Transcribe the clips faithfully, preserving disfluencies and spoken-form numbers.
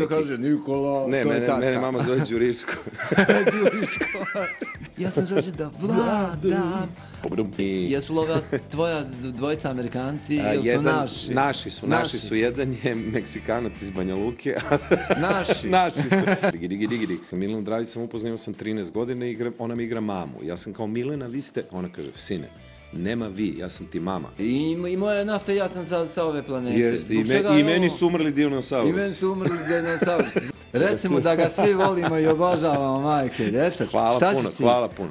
neki... kaže Nikola, ne, to mene, je tata. Mene mama zove Đuričko. Đuričko. Ja sam želim da vladam. I jesu li ova tvoja dvojica Amerikanci ili su jedan, naši? Naši su, naši, naši su. Jedan je Meksikanac iz Banja Luke. Naši? Naši su. Digi, digi, digi, digi. Milenu Dravić sam upoznao, sam trinaest godina i igra, ona mi igra mamu. Ja sam kao, Milena, vi ste... Ona kaže, sine, nema vi, ja sam ti mama. I, i moja nafta, ja sam sa, sa ove planete. Jeste, i, me, i meni su umrli dinosaurusi. I meni su umrli dinosaurusi. Recimo da ga svi volimo i obožavamo, majke. Eto, hvala šta puno, ćeš ti? hvala puno.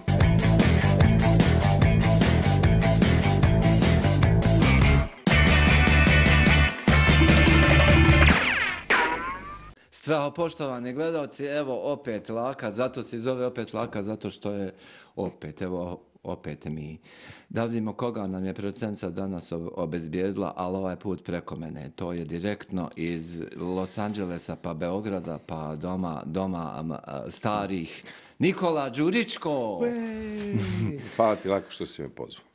Straho, poštovani gledalci, evo opet Laka, zato se zove opet Laka, zato što je opet, evo opet mi. Da vidimo koga nam je producentica danas obezbijedila, ali ovaj put preko mene. To je direktno iz Los Angelesa pa Beograda pa doma, doma starih. Nikola Đuričko! Hvala ti Lako što si me pozvao.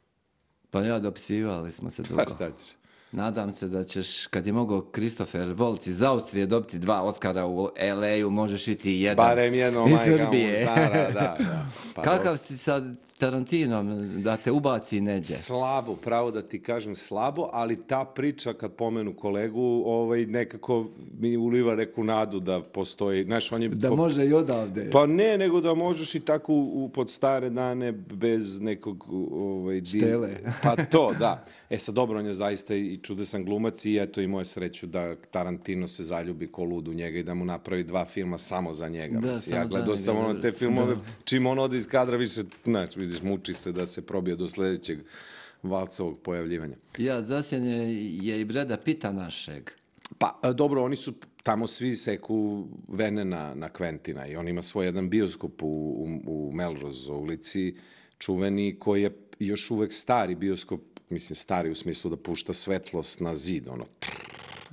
Pa ja dopisivali smo se dugo. Pa šta ćeš? Nadam se da ćeš, kad je mogao Kristofer Volc iz Austrije dobiti dva Oscara u el ej u, možeš iti jedan. Barem jedno, iz majka Srbije. Da, da, da. Pa kakav dobro. si sa Tarantinom, da te ubaci neđe? Slabo, pravo da ti kažem slabo, ali ta priča kad pomenu kolegu, ovaj, nekako mi uliva neku nadu da postoji. Znaš, on je, da po... može i odavde. Pa ne, nego da možeš i tako u, u pod stare dane bez nekog... Ovaj, štele. Pa to, da. E sad, dobro, on je zaista i čudesan glumac i eto imao je sreću da Tarantino se zaljubi ko lud u njega i da mu napravi dva filma samo za njega. Da, Mislim, ja gledao sam ono te filmove, da. Čim on ode iz kadra više, znači, vidiš, muči se da se probije do sljedećeg Valcovog pojavljivanja. Ja, zasjenje je i Breda Pitta našeg. Pa, dobro, oni su tamo svi seku vene na, na Quentina i on ima svoj jedan bioskop u, u, u Melrose ulici, čuveni, koji je još uvek stari bioskop, mislim stari u smislu da pušta svetlost na zid, ono,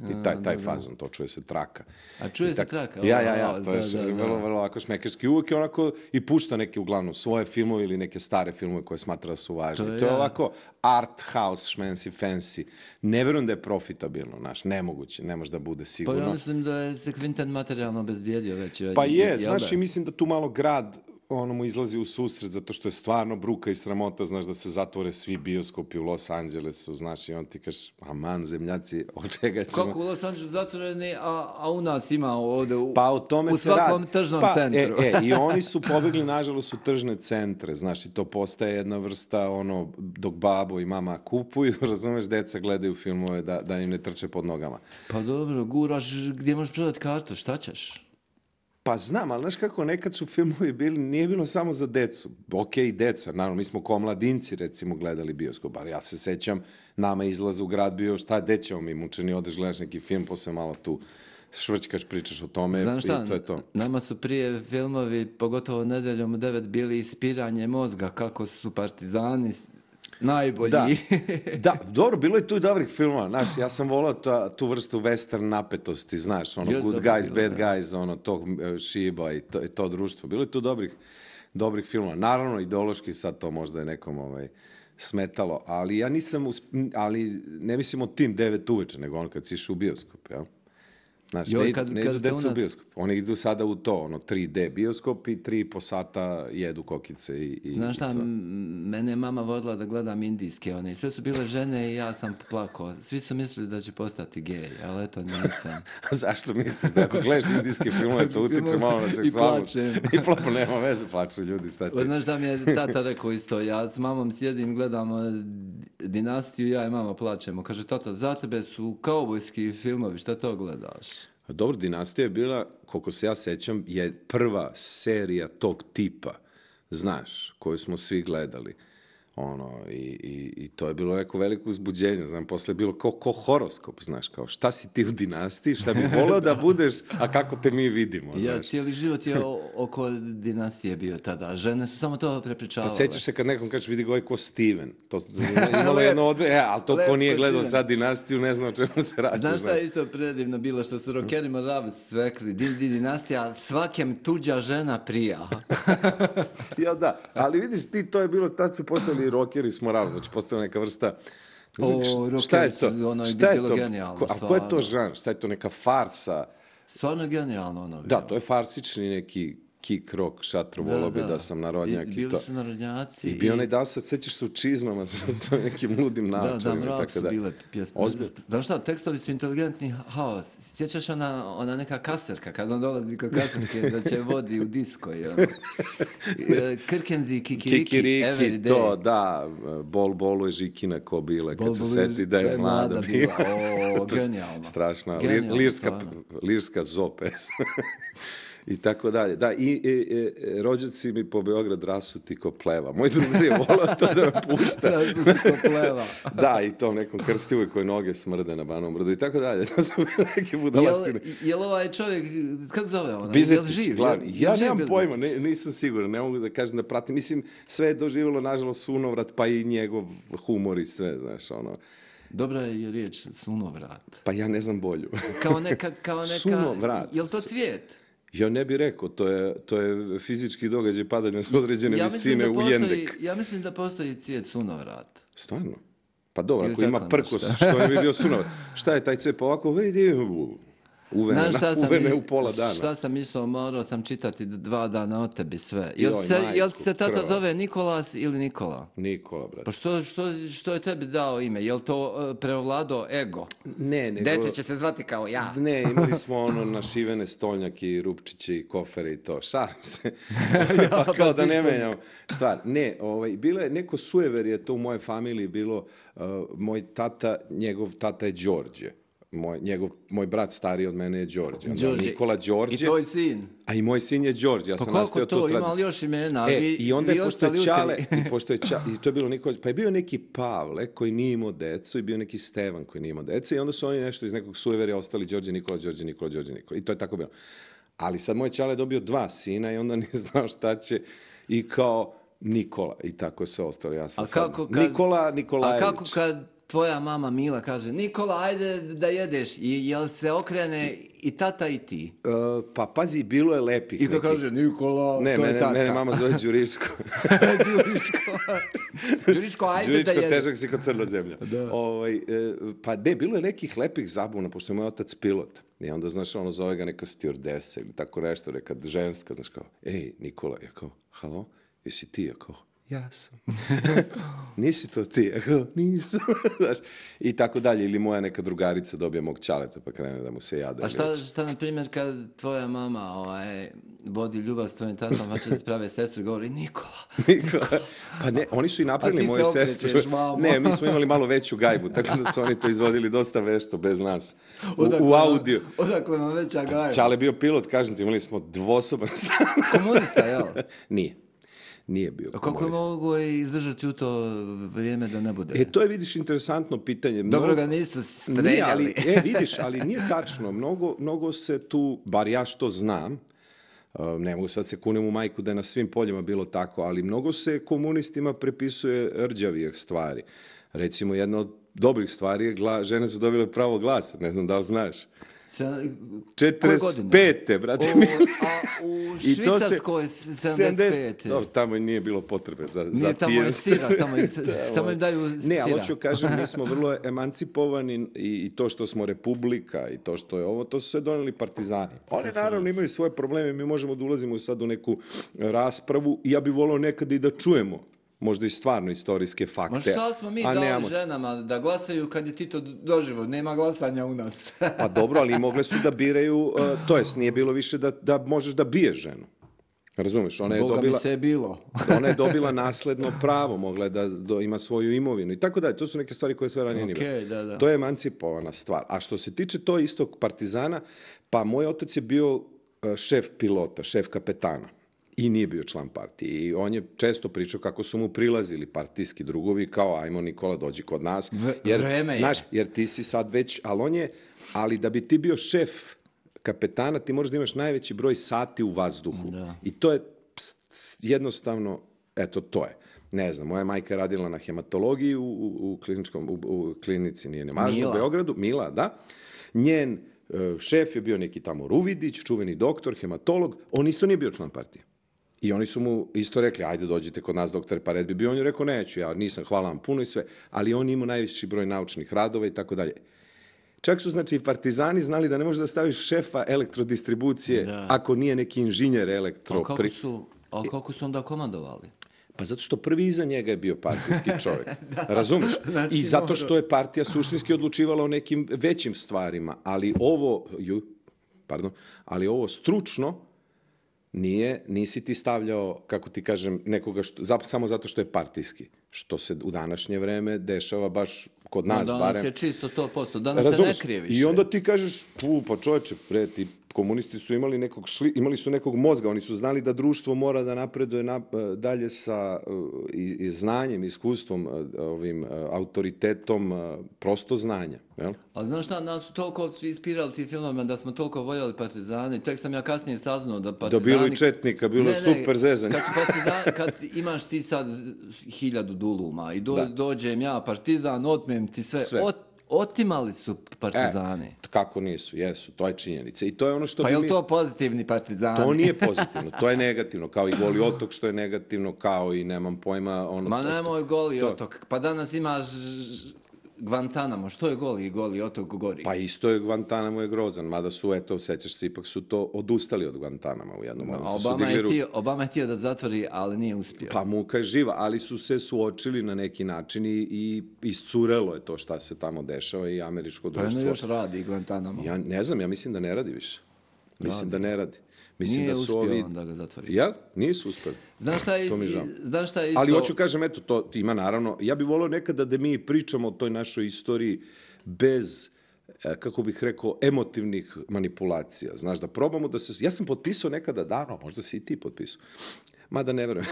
i taj, taj fazon, to čuje se traka. A čuje se traka? Ja, ja, ja, to je vrlo, vrlo ovako šmekerski. Uvijek je onako i pušta neke, uglavnom, svoje filmove ili neke stare filmove koje smatra da su važni. To je, to je ovako art house, šmensi, fancy. Ne verujem da je profitabilno, znaš, nemoguće, ne može da bude sigurno. Pa ja mislim da je se Quentin materijalno obezbijedio već. Pa je, znaš, i mislim da tu malo grad ono mu izlazi u susret zato što je stvarno bruka i sramota, znaš, da se zatvore svi bioskopi u Los Angelesu, znaš, i on ti kažeš, aman, zemljaci, od čega ćemo... Kako u Los Angelesu zatvoreni, a, a u nas ima ovde u, pa, o tome u svakom rad... tržnom pa, centru. E, e, i oni su pobegli, nažalost, u tržne centre, znaš, i to postaje jedna vrsta, ono, dok babo i mama kupuju, razumeš, deca gledaju filmove da, da im ne trče pod nogama. Pa dobro, guraš, gdje možeš prodati kartu, šta ćeš? Pa znam, ali znaš kako, nekad su filmovi bili, nije bilo samo za decu. Ok, i deca, naravno, mi smo ko mladinci, recimo, gledali bioskop, ali ja se sećam, nama izlaz u grad bio, šta, gde ćemo mi, mučeni, odeš, gledaš neki film, posle malo tu švrćkaš, pričaš o tome. Znaš šta, i to je to. Nama su prije filmovi, pogotovo nedeljom u devet, bili ispiranje mozga, kako su partizani najbolji. Da, da, dobro, bilo je tu i dobrih filmova, znaš, ja sam volao ta, tu vrstu western napetosti, znaš, ono, Just good dobro, guys, bilo, bad da. guys, ono, tog šiba i to, i to društvo. Bilo je tu dobrih, dobrih filmova. Naravno, ideološki sad to možda je nekom ovaj, smetalo, ali ja nisam, usp- ali ne mislim o tim devet uveče, nego ono kad si išao u bioskop, jel? Znači, Joj, ne, kad, ne kad idu deca nas... u bioskop. Oni idu sada u to, ono, tri de bioskop i tri po sata jedu kokice i, i Znaš šta, i to. mene je mama vodila da gledam indijske, one, sve su bile žene i ja sam plakao. Svi su mislili da će postati gej, ali eto nisam. Zašto misliš da ako gledaš indijske filmove, to utiče malo na seksualnost? I plačem. I plačem, nema veze, plaču ljudi. Šta ti? Znaš šta mi je tata rekao isto, ja s mamom sjedim, gledamo Dinastiju, ja i mama plačemo. Kaže, tata, za tebe su kaubojski filmovi, šta to gledaš? Dobro, Dinastija je bila, koliko se ja sećam, je prva serija tog tipa, znaš, koju smo svi gledali. Ono, i, i, i to je bilo neko veliko uzbuđenje, znam, posle je bilo kao, kao horoskop, znaš, kao šta si ti u Dinastiji, šta bi voleo da budeš, a kako te mi vidimo, Ja, znaš. cijeli život je o, oko Dinastije bio tada, žene su samo to prepričavale. Pa sećaš se kad nekom kažeš, vidi ga ovaj ko Steven, to imalo jedno odve, e, ali to ko nije gledao sad Dinastiju, ne zna o čemu se radi. Znaš šta je isto predivno bilo, što su rockerima rav svekli, di, di Dinastija, svakem tuđa žena prija. Ja da, ali vidiš ti, to je bilo, tad su postali rockeri smo ravno, znači postala neka vrsta, o, šta je to? Ono je Šta je bilo to? genijalno. Ko, a ko je to žanr? Šta je to, neka farsa? Stvarno genijalno ono. Da, bilo. to je farsični neki kick rock, šatro, volao bi da sam narodnjak I, i, bili to. su narodnjaci. I bio onaj Dasa, sećaš se u čizmama sa, sa nekim ludim Da, da, naočarima i mrak tako su da. bile pjesme. Ozbiljno. Znaš šta, tekstovi su inteligentni, haos. Sjećaš ona, ona neka kaserka, kad on dolazi kod kaserke da će vodi u disko. I ono. Krkenzi, kikiriki, Kikiriki, every day. to, da, bol, bolu je žikina ko bile, kad Bol, se bolu seti da je mlada bila. O, To je genijalno. Strašna, lir, Genijalno, lirska, stvarno. lirska zo pesma. I tako dalje. Da, i, i, i rođaci mi po Beograd rasuti ko pleva. Moj drugar je volao to da me pušta. Rasuti ko pleva. Da, i tom nekom krstivu koje noge smrde na Banom Brdu i tako dalje. To su neke budalaštine. Jel, jel ovaj čovjek, kako zove ono? Bizetić, Jel živ? glavni. Jel- Ja jel živ nemam Bizetić? pojma, ne, nisam siguran, ne mogu da kažem da pratim. Mislim, sve je doživjelo, nažalost, sunovrat, pa i njegov humor i sve, znaš, ono. Dobra je riječ sunovrat. Pa ja ne znam bolju. Kao neka, kao neka, Sunovrat. jel to cvijet? Ja ne bih rekao, to je, to je fizički događaj padanja s određene Ja mislim, visine da u postoji, jendek. ja mislim da postoji cvijet sunovrat. Stvarno? Pa dobro, Ili ako ima tako prkos, nešto. što ne bi bio sunovrat? Šta je taj cvijet? Pa ovako, vidi, uvene, Znaš šta sam, uvene u pola dana. šta sam išao, morao sam čitati dva dana o tebi sve. Jel, Joj, se, jel majku, se tata krva. zove Nikolas ili Nikola? Nikola, brate. Pa što, što, što je tebi dao ime? Jel to uh, prevladao ego? Ne, nego... Dete će se zvati kao ja. Ne, imali smo ono našivene stolnjake i rupčiće i kofere i to. Šalim se. pa kao pa da ne si- menjam stvar. Ne, ovaj, bilo je neko sujever je to u mojoj familiji bilo. Uh, moj tata, njegov tata je Đorđe. Moj, njegov, moj brat stariji od mene je Đorđe. Onda Đorđe. Nikola Đorđe. I tvoj sin. A i moj sin je Đorđe. Ja Pa sam koliko nastavio to, tu ima li tradiciju. još imena? E, Vi- i onda vi je pošto ostali je Čale, utri. i pošto je Ča, i to je bilo Nikola, pa je bio neki Pavle koji nije imao decu i bio neki Stevan koji nije imao deca i onda su oni nešto iz nekog sujeverja ostali Đorđe Nikola, Đorđe Nikola, Đorđe Nikola. I to je tako bilo. Ali sad moj Čale je dobio dva sina i onda nije znao šta će i kao Nikola i tako se ostalo. Ja sam A sad kako kad- Nikola Nikolajević. A kako kad tvoja mama Mila kaže Nikola, ajde da jedeš, i jel se okrene i tata i ti? E, pa pazi, bilo je lepih I to nekih- kaže Nikola, Ne, to je mene, tata. mene mama zove Đuričko. Đuričko. Đuričko, ajde Đuričko, da jedeš. težak si kod crna zemlja. Da. Ovaj, e, pa ne, bilo je nekih lepih zabuna, pošto je moj otac pilot. I onda, znaš, ono zove ga neka stewardesa ili tako nešto, neka ženska, znaš, kao, ej, Nikola, ja kao, halo, jesi ti? Ja kao, ja sam. Nisi to ti? Ja kao, nisam. Znaš, i tako dalje. Ili moja neka drugarica dobije mog ćaleta, pa krene da mu se jada. A šta, šta na primjer, kad tvoja mama ovaj, vodi ljubav s tvojim tatom, hoće da sprave sestru i govori Nikola. Nikola. Pa ne, oni su i A napravili ti moju se okrećeš, sestru. mamo. Ne, mi smo imali malo veću gajbu, tako da su oni to izvodili dosta vešto, bez nas. U, Odakle u vam- audio. Odakle vam veća gajba? Čale je bio pilot, kažem ti, imali smo dvosoban stan. Komunista, jel? Nije. Nije bio A kako je komunista. mogu izdržati u to vrijeme da ne bude? E, to je, vidiš, interesantno pitanje. Dobro Mnogo- ga nisu Nije, streljali. ali, e, vidiš, ali nije tačno. Mnogo, mnogo se tu, bar ja što znam, uh, ne mogu sad se kunem u majku da je na svim poljima bilo tako, ali mnogo se komunistima prepisuje rđavijih stvari. Recimo, jedna od dobrih stvari je gla, žene su dobile pravo glasa, ne znam da li znaš. Se- koje četrdeset godine? pete, brate. O, mi. a u I to se- Švicarskoj sedamdeset pete. Dobro, tamo nije bilo potrebe za, za Nije tamo je pijenstvo. sira, samo, im- samo im daju Ne, ali sira. hoću kažem, mi smo vrlo emancipovani i, i to što smo republika i to što je ovo, to su sve doneli partizani. Oni naravno imaju svoje probleme, mi možemo da ulazimo sad u neku raspravu i ja bih volao nekada i da čujemo možda i stvarno istorijske fakte. Ma šta smo mi a dali nemamo. ženama da glasaju kad je Tito doživo? Nema glasanja u nas. Pa dobro, ali mogle su da biraju, uh, to jest nije bilo više da, da možeš da biješ ženu. Razumeš, ona je Boga dobila... mi se je bilo. Ona je dobila nasledno pravo, mogla je da do, ima svoju imovinu i tako dalje. To su neke stvari koje sve ranije nije bilo. Okej, da, da. To je emancipovana stvar. A što se tiče to istog partizana, pa moj otac je bio uh, šef pilota, šef kapetana i nije bio član partije. I on je često pričao kako su mu prilazili partijski drugovi, kao ajmo Nikola dođi kod nas. V- vreme je. Znaš, jer ti si sad već, ali on je, ali da bi ti bio šef kapetana, ti moraš da imaš najveći broj sati u vazduhu. Da. I to je ps, ps, jednostavno, eto, to je. Ne znam, moja majka je radila na hematologiji u, u, u kliničkom, u, u klinici, nije ne važno, u Mila. Beogradu, Mila, da. Njen e, šef je bio neki tamo Ruvidić, čuveni doktor, hematolog, on isto nije bio član partije. I oni su mu isto rekli, ajde dođite kod nas, doktore, pa red bi bio. On je rekao, neću, ja nisam, hvala vam puno i sve. Ali on ima najveći broj naučnih radova i tako dalje. Čak su, znači, i partizani znali da ne možeš da staviš šefa elektrodistribucije Da. ako nije neki inženjer A elektro. kako Pri- su, a kako su onda komandovali? Pa zato što prvi iza njega je bio partijski čovjek. Razumeš? Znači, I zato mora. što je partija suštinski odlučivala o nekim većim stvarima, ali ovo, ju, pardon, ali ovo stručno nije, nisi ti stavljao, kako ti kažem, nekoga što, zap- samo zato što je partijski. Što se u današnje vreme dešava baš kod Ma nas danas barem. je čisto sto posto. Danas Razumeš? se ne krije više. I onda ti kažeš, pu, pa čoveče, pre, ti komunisti su imali nekog, šli, imali su nekog mozga, oni su znali da društvo mora da napreduje na, dalje sa uh, i, i znanjem, iskustvom, uh, ovim uh, autoritetom, uh, prosto znanja. Jel? Ali znaš šta, nas su toliko ispirali ti filmama da smo toliko voljeli partizane. Tek sam ja kasnije saznao da Da partizani... bilo i četnika, bilo je super zezanje. Kad, partizan, kad imaš ti sad hiljadu duluma i do, Da. dođem ja partizan, otmem ti sve. Sve. Ot, otimali su partizani. E, kako nisu, jesu, to je činjenica. I to je ono što Pa bi je li mi... to pozitivni partizani? To nije pozitivno, to je negativno, kao i Goli otok što je negativno, kao i nemam pojma... Ono, Ma to- nemoj Goli to- otok. Pa danas imaš Guantanamo. Što je Goli Goli otok gori? Pa isto je Guantanamo je grozan, mada su, eto, sećaš se, ipak su to odustali od Guantanama u jednom momentu. A su Obama je, digli ruke. htio, Obama je htio da zatvori, ali nije uspio. Pa muka je živa, ali su se suočili na neki način i, i iscurelo je to šta se tamo dešava i američko Pa jedno društvo. još radi Guantanamo. Ja ne znam, ja mislim da ne radi više. Mislim da ne radi. Mislim Nije da su uspio ovi... onda ga zatvori. Jel? Nisu uspeli. Znaš šta je, To mi je is- žao. znaš šta je isto... Ali hoću kažem, eto, to ima naravno, ja bih volio nekada da mi pričamo o toj našoj istoriji bez, e, kako bih rekao, emotivnih manipulacija. Znaš, da probamo da se... Ja sam potpisao nekada davno, možda si i ti potpisao. Mada ne verujem.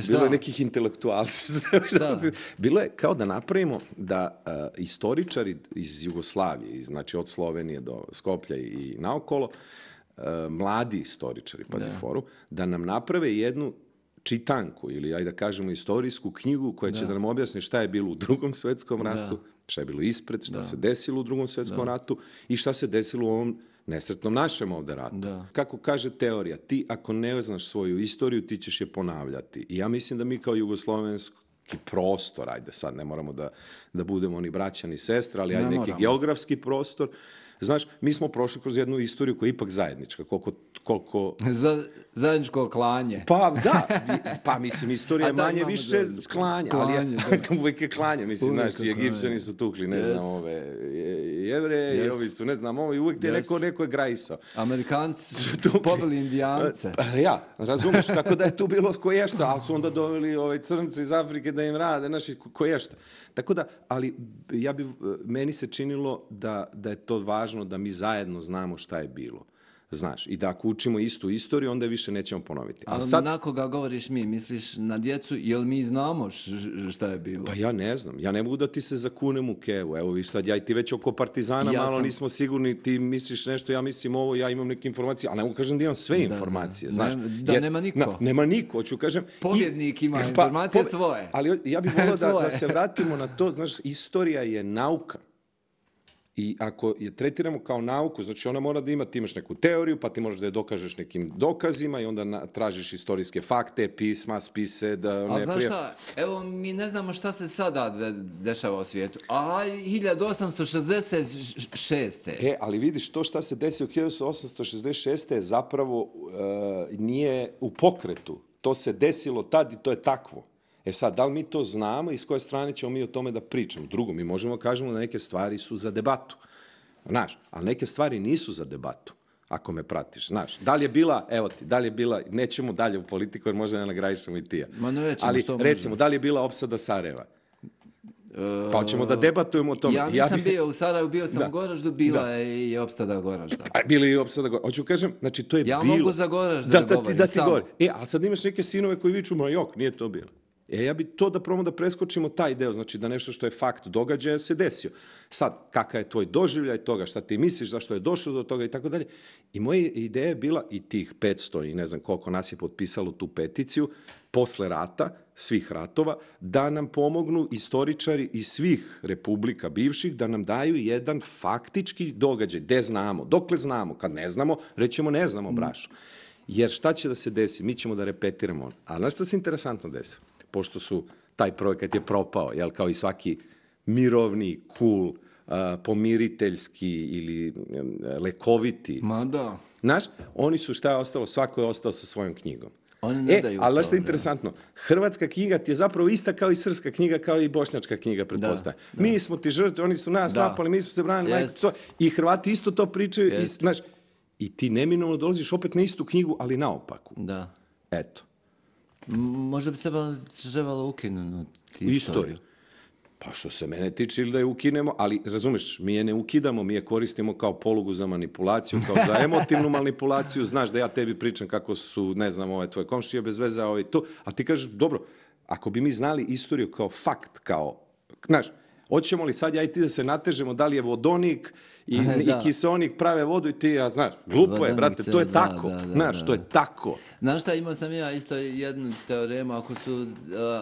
Bilo je nekih intelektualci. Šta? Bilo je kao da napravimo da uh, istoričari iz Jugoslavije, iz, znači od Slovenije do Skoplja i naokolo, uh, mladi istoričari, pazi foru, da nam naprave jednu čitanku ili, ajde da kažemo, istorijsku knjigu koja će da, nam objasni šta je bilo u Drugom svetskom ratu, šta je bilo ispred, šta se desilo u Drugom svetskom ratu i šta se desilo u ovom nesretnom našem ovde ratu. Da. Kako kaže teorija, ti ako ne znaš svoju istoriju, ti ćeš je ponavljati. I ja mislim da mi kao jugoslovenski prostor, ajde sad, ne moramo da, da budemo ni braća ni sestra, ali Ne ajde neki moramo. geografski prostor. Znaš, mi smo prošli kroz jednu istoriju koja je ipak zajednička, koliko... koliko... Za, zajedničko klanje. Pa da, vi- pa mislim, istorija je A da, manje imamo više zajedničko. klanja, Klanje, ali je, uvijek je klanje, mislim, Uvijek znaš, je i Egipćani klanje. su tukli, ne Yes. znam, ove je- jevreje, i Yes. ovi su, ne znam, ovo, i uvijek ti je Yes. neko, neko je grajsao. Amerikanci su tukli. pobili Indijance. Pa ja, razumeš, tako da je tu bilo koješta, ali su onda doveli ove crnce iz Afrike da im rade, znaš, i koješta. Tako da, ali ja bi, meni se činilo da, da je to važno da mi zajedno znamo šta je bilo. Znaš, i da ako učimo istu istoriju, onda je više nećemo ponoviti. A Ali sad, na koga govoriš mi? Misliš na djecu? Jel mi znamo š- š- šta je bilo? pa ja ne znam, ja ne mogu da ti se zakunem u kevu. Evo vi sad, ja i ti već oko partizana Ja malo sam- nismo sigurni, ti misliš nešto, ja mislim ovo, ja imam neke informacije, ali ne mogu kažem da imam sve informacije, da. znaš. Ne- da nema niko. Na, nema niko, hoću kažem. i- Pobjednik ima informacije svoje. Ali ja bih volio da, Svoje. da se vratimo na to, znaš, istorija je nauka. I ako je tretiramo kao nauku, znači ona mora da ima, ti imaš neku teoriju, pa ti možeš da je dokažeš nekim dokazima i onda na, tražiš istorijske fakte, pisma, spise, da Ali ne znaš prije... šta, evo mi ne znamo šta se sada de- dešava u svijetu. A hiljadu osamsto šezdeset šeste. E, ali vidiš, to šta se desi u hiljadu osamsto šezdeset šeste je zapravo e, nije u pokretu. To se desilo tad i to je takvo. E sad, da li mi to znamo i s koje strane ćemo mi o tome da pričamo? Drugo, mi možemo da kažemo da neke stvari su za debatu. Znaš, ali neke stvari nisu za debatu, ako me pratiš. Znaš, da li je bila, evo ti, da li je bila, nećemo dalje u politiku jer možda ne nagradišemo i ti ja. Ma nećemo, ali što recimo, možemo? da li je bila opsada Sarajeva? Pa hoćemo da debatujemo o tome. Ja nisam bi- bio u Sarajevu, bio sam Da. u Goraždu, bila je i opstada Goražda. A bili i opsada Goražda. Hoću kažem, znači to je Ja bilo. mogu za Goražda da, da da, ti, govorim, da ti samo. govori. E, ali sad imaš neke sinove koji viču, ma jok, nije to bilo. E, ja bi to da probamo da preskočimo taj deo, znači da nešto što je fakt događaja se desio. Sad, kakav je tvoj doživljaj toga, šta ti misliš, zašto je došlo do toga i tako dalje. I moja ideja je bila, i tih petsto i ne znam koliko nas je potpisalo tu peticiju, posle rata, svih ratova, da nam pomognu istoričari iz svih republika bivših, da nam daju jedan faktički događaj, gde znamo, dokle znamo, kad ne znamo, rećemo ne znamo, brašo. Jer šta će da se desi? Mi ćemo da repetiramo. A znaš šta se interesantno desi? Pošto su, taj projekat je propao, jel, kao i svaki mirovni, cool, pomiriteljski ili lekoviti. Ma da. Znaš, oni su šta je ostalo, svako je ostao sa svojom knjigom. Oni ne e, daju ali to, što je interesantno, hrvatska knjiga ti je zapravo ista kao i srpska knjiga, kao i bošnjačka knjiga, pretpostavljam. Mi smo ti žrtve, oni su nas da. napali, mi smo se branili, majko, to, i Hrvati isto to pričaju, i, znaš, i ti neminovno dolaziš opet na istu knjigu, ali naopaku. Da. Eto. Možda bi se trebalo ukinuti istoriju. istoriju. Pa što se mene tiče ili da je ukinemo, ali razumeš, mi je ne ukidamo, mi je koristimo kao polugu za manipulaciju, kao za emotivnu manipulaciju, znaš da ja tebi pričam kako su, ne znam, ove tvoje komšije bez veze, ovaj to, a ti kažeš, dobro, ako bi mi znali istoriju kao fakt, kao, znaš, hoćemo li sad ja i ti da se natežemo da li je vodonik i, i kiseonik prave vodu i ti, ja znaš, glupo vodonik je, brate, to je da, tako, da, da, znaš, da, to je tako. Znaš šta, imao sam ja isto jednu teoremu, ako su uh,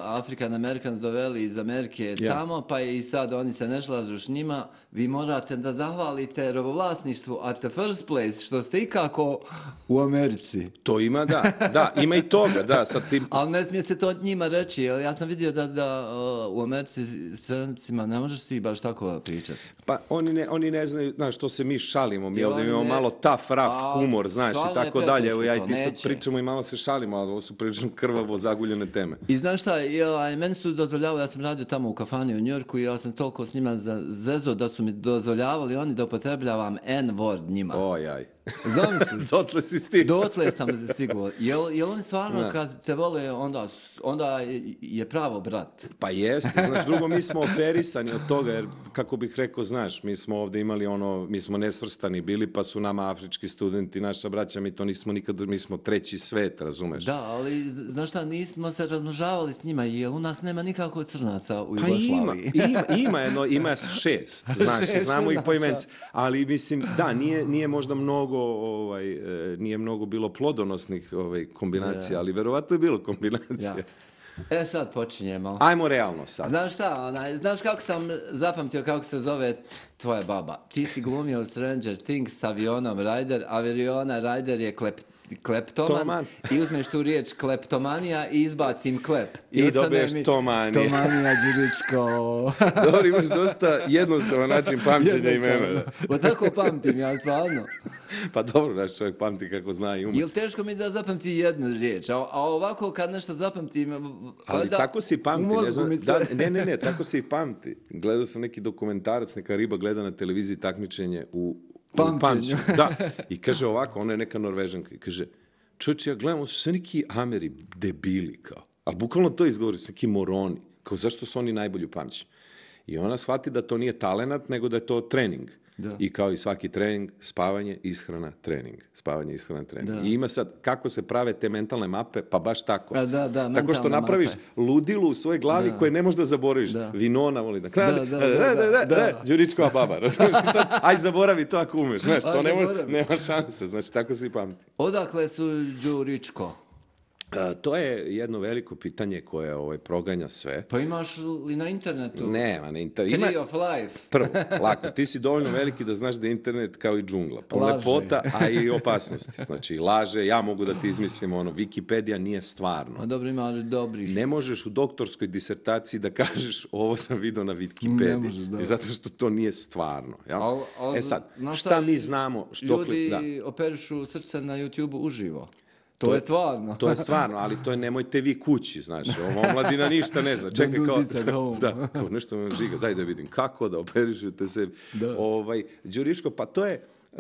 African Americans doveli iz Amerike yeah. tamo, pa i sad oni se ne slažu s njima, vi morate da zahvalite robovlasništvu at the first place, što ste ikako u Americi. To ima, da, da, ima i toga, da. Sad ti... Ali ne smije se to njima reći, jer ja sam vidio da, da uh, u Americi strancima ne možeš svi baš tako pričati. Pa oni ne, oni ne znaju, znaš, što se mi šalimo, mi ovdje imamo ne... malo tough, rough humor, znaš, i tako dalje. Evo ja i ti sad pričamo i malo se šalimo, ali ovo su prilično krvavo zaguljene teme. I znaš šta, ja, meni su dozvoljavali, ja sam radio tamo u kafani u Njujorku i ja sam toliko s njima zezo da su mi dozvoljavali oni da upotrebljavam N-word njima. Ojaj. Zamisli. Dotle si stigao. Dotle sam stigao. Jel, jel oni stvarno ne. Kad te vole, onda, onda je pravo brat? Pa jeste, znaš, drugo, mi smo operisani od toga, jer kako bih rekao, znaš, mi smo ovdje imali ono, mi smo nesvrstani bili, pa su nama afrički studenti, naša braća, mi to nismo nikad, mi smo treći svet, razumeš? Da, ali, znaš šta, nismo se razmnožavali s njima, jer u nas nema nikako crnaca u Jugoslaviji. Pa ima, ima, ima, jedno, ima šest, znaš, šest, znamo ih po imence, ali mislim, da, nije, nije možda mnogo ovaj, nije mnogo bilo plodonosnih ovaj, kombinacija, yeah. ali verovatno je bilo kombinacija. Yeah. E sad počinjemo. Ajmo realno sad. Znaš šta, onaj, znaš kako sam zapamtio kako se zove tvoja baba? Ti si glumio u Stranger Things s avionom Ryder, aviona Ryder je klep, kleptoman Toman. I uzmeš tu riječ kleptomanija i izbacim klep. I, I dobiješ mi tomanija. Tomanija, Đuričko. Dobro, imaš dosta jednostavan način pamćenja imena. Pa tako pamtim ja stvarno. Pa dobro, naš čovjek pamti kako zna i ume. Ili teško mi da zapamti jednu riječ, a, a ovako kad nešto zapamtim... Ali da, tako si pamti, ne znam, da, ne, ne, ne, tako si pamti. Gledao sam neki dokumentarac, neka riba gleda na televiziji takmičenje u pamćenju. Da, i kaže ovako, ona je neka Norvežanka, i kaže, čovječe, ja gledam, su sve neki Ameri debili, kao. Ali bukvalno to izgovori, su neki moroni. Kao, zašto su oni najbolji u pamćenju? I ona shvati da to nije talenat, nego da je to trening. Da. I kao i svaki trening, spavanje, ishrana, trening. Spavanje, ishrana, trening. Da. I ima sad, kako se prave te mentalne mape, pa baš tako. A, da, da, tako što napraviš mape. Ludilu u svojoj glavi da. Koje ne možeš da zaboraviš. Da. Vinona voli da krade. Da, da, da, da, da, da, da. Đuričkova baba. Razumiješ i sad, aj zaboravi to ako umeš. Znaš, to nema, nema šanse. Znači, tako se i pamti. Odakle su Đuričko? Uh, to je jedno veliko pitanje koje ovaj, proganja sve. Pa imaš li na internetu? Nema na internetu. Tree of life. Prvo, lako, ti si dovoljno veliki da znaš da je internet kao i džungla. Pun lepota, a i opasnosti. Znači, laže, ja mogu da ti izmislim ono, Wikipedija nije stvarno. A dobro, ima dobrih. Ne možeš u doktorskoj disertaciji da kažeš ovo sam vidio na Wikipediji. Ne možeš, da. Zato što to nije stvarno. Ja? Al, al, e sad, šta mi znamo? Što ljudi da. Operišu srce na YouTube-u uživo. To, to je stvarno. To je stvarno, ali to je nemojte vi kući, znaš. Ovo mladina ništa ne zna. Čekaj kao, da, kao nešto me žiga, daj da vidim kako da operišete se. Ovaj, Đuriško, pa to je, uh,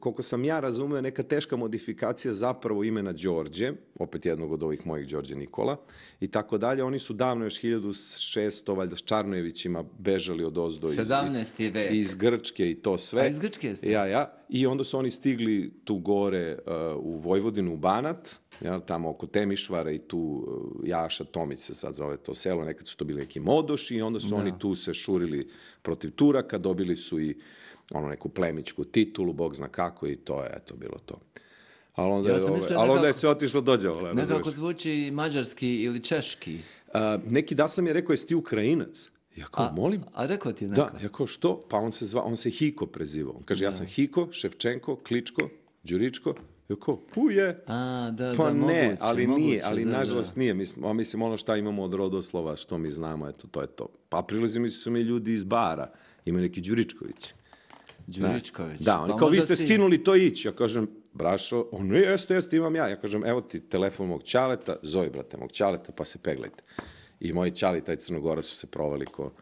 koliko sam ja razumio, neka teška modifikacija zapravo imena Đorđe, opet jednog od ovih mojih Đorđe Nikola, i tako dalje. Oni su davno još hiljadu šesto, valjda s Čarnojevićima bežali od ozdo iz, sedamnaesti vek. Iz Grčke i to sve. A iz Grčke ste? Ja, ja. I onda su oni stigli tu gore uh, u Vojvodinu, u Banat, ja, tamo oko Temišvara i tu uh, Jaša Tomić se sad zove to selo, nekad su to bili neki modoši i onda su da. Oni tu se šurili protiv Turaka, dobili su i ono neku plemićku titulu, bog zna kako i to je, eto, bilo to. Ali onda, ja je, ove, ali onda je sve otišlo dođe. Nekako zvuči mađarski ili češki. Uh, neki da sam je rekao, jesi ti Ukrajinac? Ja kao, a, molim? A rekao ti neko? Da, ja kao, što? Pa on se zva, on se Hiko prezivao. On kaže, da. Ja sam Hiko, Ševčenko, Kličko, Đuričko. Jako, uje. A, da, Pa da, ne, moguće, ali moguće, nije, ali da, nažalost da. nije. Mislim, a mislim, ono šta imamo od rodoslova, što mi znamo, eto, to je to. Pa prilazi mi su mi ljudi iz bara, imaju neki Đuričković. Đuričković. Da, oni Pa kao, vi možda ste ti- skinuli to ići. Ja kažem, brašo, on, jeste, jeste, imam ja. Ja kažem, evo ti telefon mog ćaleta, zovi, brate, mog ćaleta, pa se peglajte. I moji ćali, taj Crnogora, su se provali ko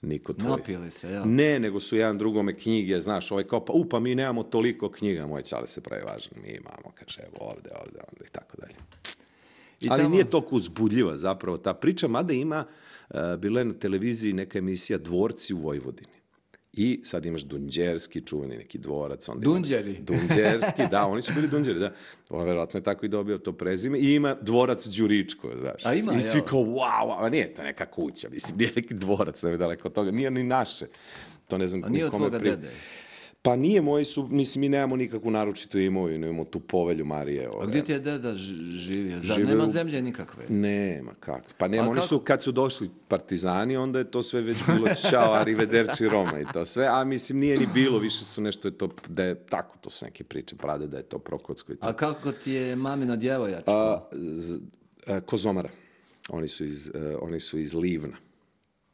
niko tvoj. Napili se, jel? Ne, nego su jedan drugome knjige, znaš, ovaj kao, pa u, pa mi nemamo toliko knjiga, moj ćale se pravi važan, mi imamo, kaže, evo, ovde, ovde, ovde, i tako dalje. I Ali tamo- nije toliko uzbudljiva zapravo ta priča, mada ima, uh, bila je na televiziji neka emisija Dvorci u Vojvodini. I sad imaš Dunđerski, čuveni neki dvorac. Onda ima- Dunđeri. Dunđerski, da, oni su bili Dunđeri, da. On verovatno je tako i dobio to prezime. I ima dvorac Đuričko, znaš. A ima, I svi jel? kao, wow, a nije to neka kuća, mislim, nije neki dvorac, ne daleko od toga, nije ni naše. To ne znam A nije od kome tvoga pri- dede. Pa nije, moji su, mislim, mi nemamo nikakvu naručitu imovinu, imamo tu povelju Marije. A ove. gdje ti je deda ž- živio? Zar Žive nema u- zemlje nikakve? Nema, kako. Pa nema, A oni kako? su, kad su došli partizani, onda je to sve već bilo čao, arrivederci Roma i to sve, a mislim, nije ni bilo, više su nešto je to, da je tako, to su neke priče, prade da je to Prokocko i to. A kako ti je mamino djevojačko? A, z- a, Kozomara, oni su iz, e, oni su iz Livna.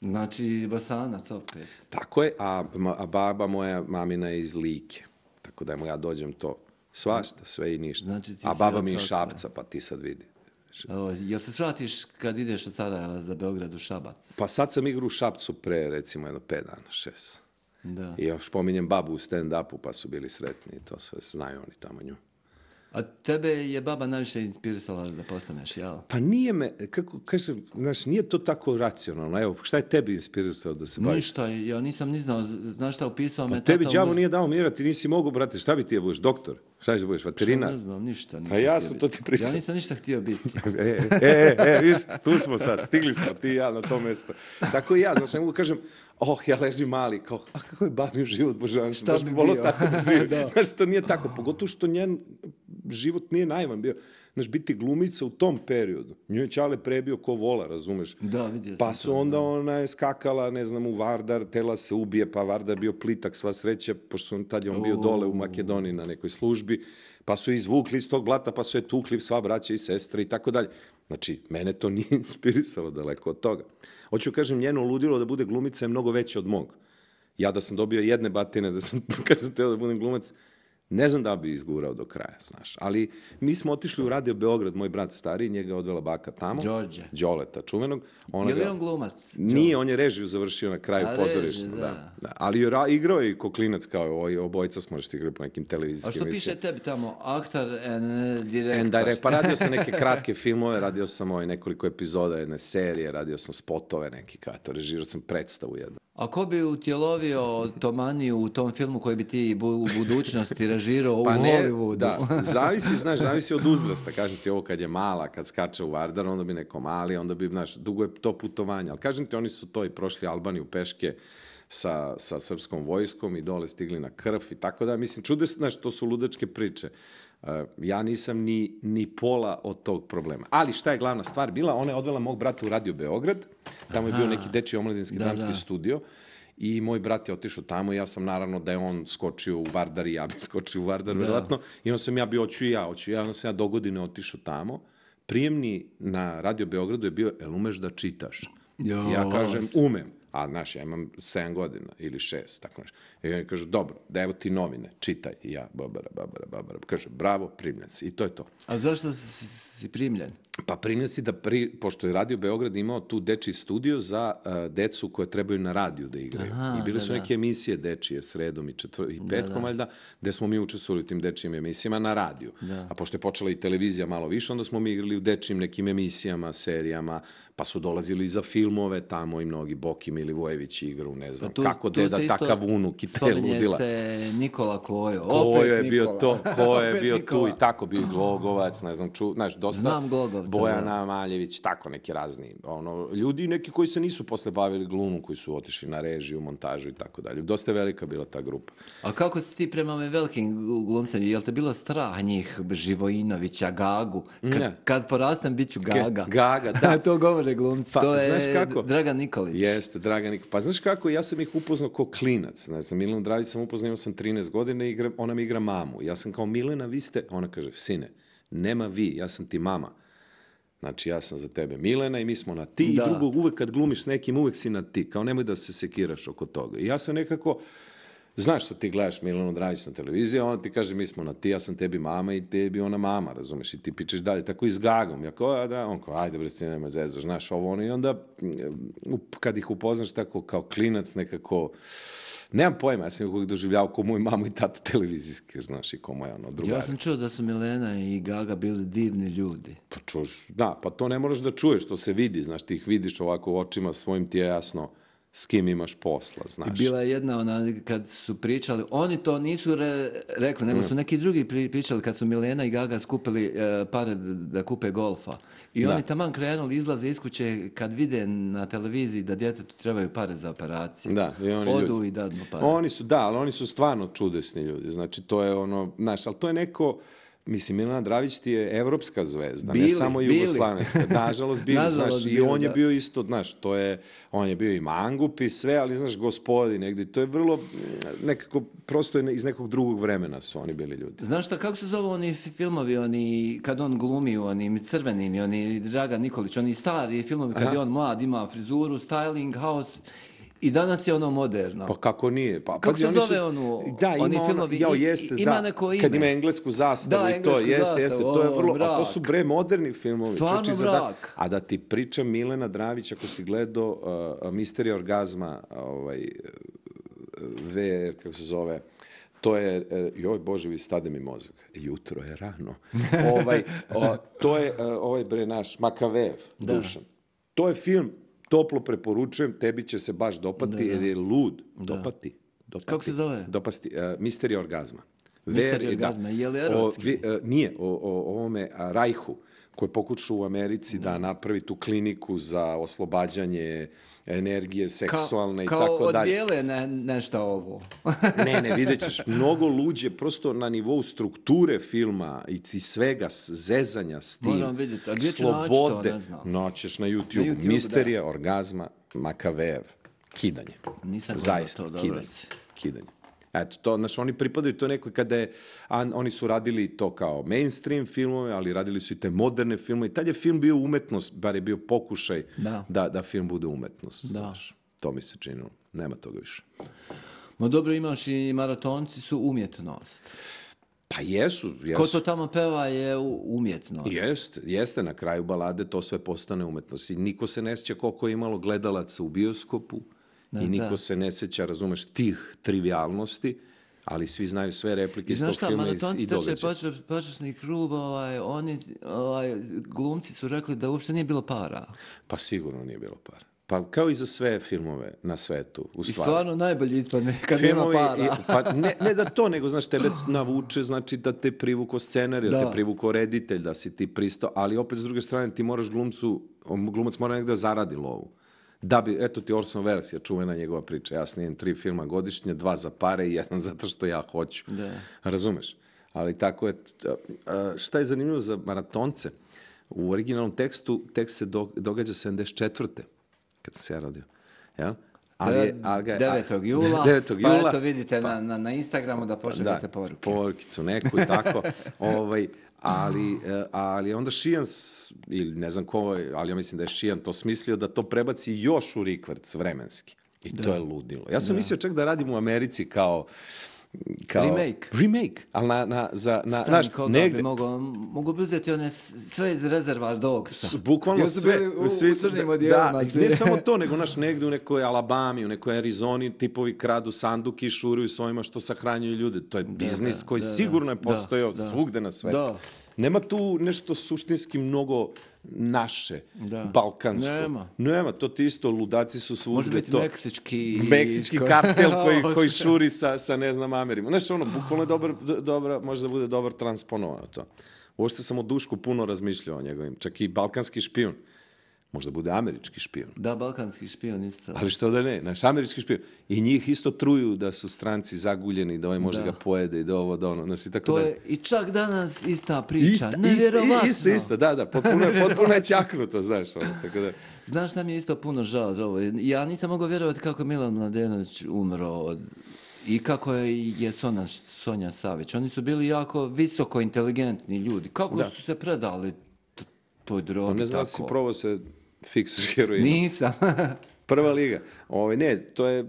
Znači, Bosanac opet. Tako je, a, ma- a baba moja mamina je iz Like, tako da mu ja dođem to svašta, sve i ništa. Znači, ti a si baba od mi je svakog. Šapca, pa ti sad vidi. Evo, jel se svratiš kad ideš od Sarajeva za Beograd u Šabac? Pa sad sam igrao u Šapcu pre, recimo, jedno pet dana, šest. Da. I još pominjem babu u stand-upu, pa su bili sretni i to sve znaju oni tamo nju. A tebe je baba najviše inspirisala da postaneš, jel? Pa nije me, kako kažem, znaš, nije to tako racionalno. Evo, šta je tebi inspirisao da se baviš? Ništa, ja nisam ni znao, znaš šta, upisao me Pa tebi tata u- đavo nije dao mira, ti nisi mogu, brate, šta bi ti je budeš, doktor? Šta će budeš, veterinar? Ne znam, ništa nisam Pa ja htio sam biti. to ti pričao. Ja nisam ništa htio biti. E, e, e, e, viš, tu smo sad, stigli smo ti i ja na to mesto. Tako i ja, znaš, ne mogu kažem, oh, ja ležim mali, kao, a kako je babin život, božanstvo, Šta baš bi bi volio bio? tako da živim. Da. Znaš, to nije tako, pogotovo što njen život nije naivan bio. Znaš, biti glumica u tom periodu. Nju je Ćale prebio ko vola, razumeš? Da, vidio sam Pa to, su onda ona je skakala, ne znam, u Vardar, tela se ubije, pa Vardar bio plitak, sva sreća, pošto on, tad je on bio dole u Makedoniji na nekoj službi, pa su je izvukli iz tog blata, pa su je tukli sva braća i sestre i tako dalje. Znači, mene to nije inspirisalo daleko od toga. Hoću kažem, njeno ludilo da bude glumica je mnogo veće od mog. Ja da sam dobio jedne batine, da sam, kad sam teo da budem glumac, ne znam da bi izgurao do kraja, znaš. Ali mi smo otišli u Radio Beograd, moj brat stariji, njega je odvela baka tamo. Đorđe. Đoleta, čuvenog. Ona Je li ga- on glumac? Nije, on je režiju završio na kraju A, pozorišta. režiju, Da. da. Da. Ali je ra- igrao je i ko klinac, kao ovaj, obojica smo što igrali po nekim A televizijskim što piše emisijama. tebi tamo? Aktor and direktor. And direct, pa radio sam neke kratke filmove, radio sam ovaj nekoliko epizoda jedne serije, radio sam spotove neki, kao to, režirao sam predstavu jednu. A ko bi utjelovio Tomaniju u tom filmu koji bi ti bu- u budućnosti režirao Pa u ne, Hollywoodu? da, zavisi, znaš, zavisi od uzrasta, kažem ti ovo kad je mala, kad skače u Vardar, onda bi neko mali, onda bi, znaš, dugo je to putovanje, ali kažem ti, oni su to i prošli Albaniju peške sa, sa srpskom vojskom i dole stigli na krv i tako da, mislim, čudesno, znaš, to su ludačke priče. Uh, ja nisam ni, ni pola od tog problema. Ali šta je glavna stvar bila? Ona je odvela mog brata u Radio Beograd, tamo je bio neki dečiji omladinski Da, dramski da. studio i moj brat je otišao tamo i ja sam naravno da je on skočio u Vardar i ja bi skočio u Vardar, verovatno. I onda sam ja bio, hoću i ja, hoću i ja, onda sam ja do godine otišao tamo. Prijemni na Radio Beogradu je bio, jel umeš da čitaš? Jo, Ja kažem, vas. umem. A, znaš, ja imam sedam godina ili šest, tako nešto. I oni kažu, dobro, da evo ti novine, čitaj. I ja, babara, babara, babara. Kaže, bravo, primljen si. I to je to. A zašto si, si primljen? Pa primljen si da, pri, pošto je Radio Beograd imao tu dečiji studio za uh, decu koje trebaju na radiju da igraju. Aha, I bile da, su da. neke emisije dečije sredom i, četvr, i petkom, da. valjda, gde smo mi učestvovali u tim dečijim emisijama na radiju. Da. A pošto je počela i televizija malo više, onda smo mi igrali u dečijim nekim emisijama, serijama, pa su dolazili za filmove tamo i mnogi Boki Milivojević igru, ne znam, Pa tu- kako tu deda se isto takav unuk i te spominje ludila. se Nikola Kojo. Ko Opet je bio Nikola. to, ko je Opet bio Nikola. tu i tako bio i Glogovac, ne znam, ču, znaš, dosta Znam Glogovca, Bojana Maljević, tako neki razni, ono, ljudi neki koji se nisu posle bavili glumom, koji su otišli na režiju, montažu i tako dalje. Dosta je velika bila ta grupa. A kako si ti prema ovim velikim glumcem? Jel te bilo strah njih, Živojinovića, Gagu? Kad, Ne. kad porastem, bit ću Gaga. Gaga, da. To govore glumci. Pa, to je znaš kako? Dragan Nikolić. Jeste, Dragan Draga Nikolić. Pa znaš kako, ja sam ih upoznao kao klinac. Ne znam, Milenu Dravić sam upoznao, imao sam trinaest godina i igra, ona mi igra mamu. Ja sam kao, Milena, vi ste, ona kaže, sine, nema vi, ja sam ti mama. Znači, ja sam za tebe Milena i mi smo na ti. Da. I drugo, uvek kad glumiš s nekim, uvek si na ti. Kao nemoj da se sekiraš oko toga. I ja sam nekako, znaš što ti gledaš Milenu Dragić na televiziji, ona ti kaže mi smo na ti, ja sam tebi mama i tebi ona mama, razumeš, i ti pičeš dalje, tako i s Gagom. Ja kao, a da, on kao, ajde bre, si nema zezaš, znaš ovo ono. I onda, kad ih upoznaš tako kao klinac, nekako, nemam pojma, ja sam ih uvijek doživljavao kao moju mamu i tatu televizijski, znaš, i kao moja ono drugara. Ja sam čuo da su Milena i Gaga bili divni ljudi. Pa čuš, da, pa to ne moraš da čuješ, to se vidi, znaš, ti ih vidiš ovako u očima, svojim ti je jasno s kim imaš posla, znaš. I bila je jedna, ona, kad su pričali, oni to nisu re, rekli, nego su neki drugi pri, pričali kad su Milena i Gaga skupili e, pare da, da kupe golfa. I Da. oni taman krenuli, izlaze iz kuće kad vide na televiziji da djetetu trebaju pare za operaciju. Da, i oni Odu ljudi. i dadnu pare. Oni su, da, ali oni su stvarno čudesni ljudi. Znači, to je ono, znaš, ali to je neko, mislim, Milena Dravić ti je evropska zvezda, Bili, ne samo bili. jugoslavenska. Nažalost, bili, Nažalost, znaš, i bili, on je da. bio isto, znaš, to je, on je bio i mangup i sve, ali, znaš, gospodin negdje, to je vrlo, nekako, prosto je iz nekog drugog vremena su oni bili ljudi. Znaš šta, kako se zove oni fi- filmovi, oni, kad on glumi u onim crvenim, i oni Dragan Nikolić, oni stari filmovi, kad Aha. je on mlad, ima frizuru, styling, house, i danas je ono moderno. Pa kako nije? Pa, Kako pazi, se oni zove ono- da, oni ima ono- filmovi, jao, i- jeste, ima da, neko ime. kad ima englesku zastavu Da, i to, englesku jeste, jeste, zastavu, to je o, vrlo, a to mrak. su bre moderni filmovi. Stvarno čoči, za da- mrak. a da ti priča Milena Dravić, ako si gledao uh, Misterija orgazma, ovaj, V, kako se zove, to je, e, joj Bože, vi stade mi mozak, jutro je rano. ovaj, o, to je e, ovaj bre naš Makavev, Da. Dušan. To je film, toplo preporučujem, tebi će se baš dopati, Da, da. jer je lud. Da. Dopati. Dopati. Kako se zove? Dopasti. Uh, Misterija orgazma. Misterija Ver- da. orgazma, je li O, erotski? vi- e, nije, o, o ovome a, Rajhu, koji pokušao u Americi da napravi tu kliniku za oslobađanje energije seksualne i kao tako dalje. odbijele ne, nešto ovo. Ne, ne, vidjet ćeš mnogo luđe, prosto na nivou strukture filma i i svega, s- zezanja s tim, Moram vidjeti. A gdje ću naći to, ne znam. naćeš na YouTube. Na YouTube, Misterija orgazma Makavev. Kidanje. Nisam gledao Zaista, to, dobro kidanje. si. Kidanje. Eto, to, znaš, oni pripadaju to nekoj kada je, a, oni su radili to kao mainstream filmove, ali radili su i te moderne filmove i tad je film bio umetnost, bar je bio pokušaj Da. da, da film bude umetnost. Da. Znaš. To mi se činilo. Nema toga više. Ma dobro, imaš i maratonci su umjetnost. Pa jesu, jesu. Ko to tamo peva je u- umjetnost. Jeste, jeste, na kraju balade to sve postane umetnost. I niko se ne sjeća koliko je imalo gledalaca u bioskopu Da, i niko da. se ne sjeća, razumeš, tih trivialnosti, ali svi znaju sve replike I iz znaš tog šta, filma i, maratonci i trče događaja. počas- počasni krug, ovaj, oni, ovaj, glumci su rekli da uopšte nije bilo para. Pa sigurno nije bilo para. Pa kao i za sve filmove na svetu, u I stvari. stvarno najbolji ispadne kad nema Filmovi, para. i- pa ne, ne da to, nego znaš, tebe navuče, znači da te privuko scenar, da Da. te privuko reditelj, da si ti pristao, ali opet s druge strane ti moraš glumcu, glumac mora negdje da zaradi lovu. Da bi, eto ti Orson Welles je čuvena njegova priča, ja snijem tri filma godišnje, dva za pare i jedan zato što ja hoću. Da. Razumeš? Ali tako je, t- a, šta je zanimljivo za maratonce? U originalnom tekstu tekst se do- događa sedamdeset četvrte kad sam se ja rodio. Jel? Ali je, ali ga je- devetog jula, devetog pa jula, eto vidite na, na, na Instagramu da pošaljete poruke. porukicu neku i tako. ovaj, ali, e, ali onda Šijan, s- ili ne znam ko, je, ali ja mislim da je Šijan to smislio da to prebaci još u rikvrc vremenski. I to je ludilo. Ja sam mislio čak da radim u Americi kao kao Remake. remake, ali na, na, za, na, Stani, znaš, koga negde, bi mogao, mogu bi uzeti one s- sve iz Reservoir Dogsa. S- bukvalno Jer su sve, bili u, svi u su- crnim da, odjelima, da, svi. ne samo to, nego naš negdje u nekoj Alabami, u nekoj Arizoni tipovi kradu sanduke i šuruju s ovima što sahranjuju ljude. To je biznis da, koji da, sigurno je da, postojao da. svugde na svetu. Da. Nema tu nešto suštinski mnogo naše, Da. balkansko. Nema. Nema, to ti isto, ludaci su svugde. Može biti to. meksički... Meksički kartel koji, koji šuri sa, sa ne znam Amerima. Znaš, ono, bukvalno je dobar, do- dobra, može da bude dobar transponovano to. Uopšte sam o Dušku puno razmišljao o njegovim, čak i balkanski špijun. možda bude američki špijun. Da, balkanski špijun isto. Ali što da ne, naš američki špijun. I njih isto truju da su stranci zaguljeni, da ovaj može Da. ga pojede i da ovo, da ono, znaš, i tako To dalje. je i čak danas ista priča. Ista, Nevjerovatno. isto, isto, da, da, potpuno, potpuno je ćaknuto, znaš, ono, tako da. Znaš šta mi je isto puno žao za ovo? Ja nisam mogao vjerovati kako je Milan Mladenović umro od, i kako je, je Sonja, Sonja Savić. Oni su bili jako visoko inteligentni ljudi. Kako Da. su se predali t- toj drogi Pa ne znam da tako? si probao se fiksaš heroinom. Nisam. Prva liga. Ove, ne, to je, e,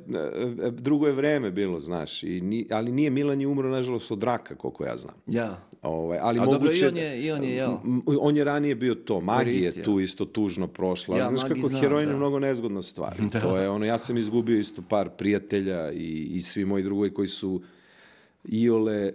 drugo je vreme bilo, znaš, i ni, ali nije Milan je umro, nažalost, od raka, koliko ja znam. Ja. Ove, ali A dobro, moguće, i on je, i on je, jel? M- On je ranije bio to, magija je Koristio. tu isto tužno prošla. Ja, Znaš Magi kako znam, heroin je da. mnogo nezgodna stvar. Da. To je ono, ja sam izgubio isto par prijatelja i, i svi moji drugovi koji su iole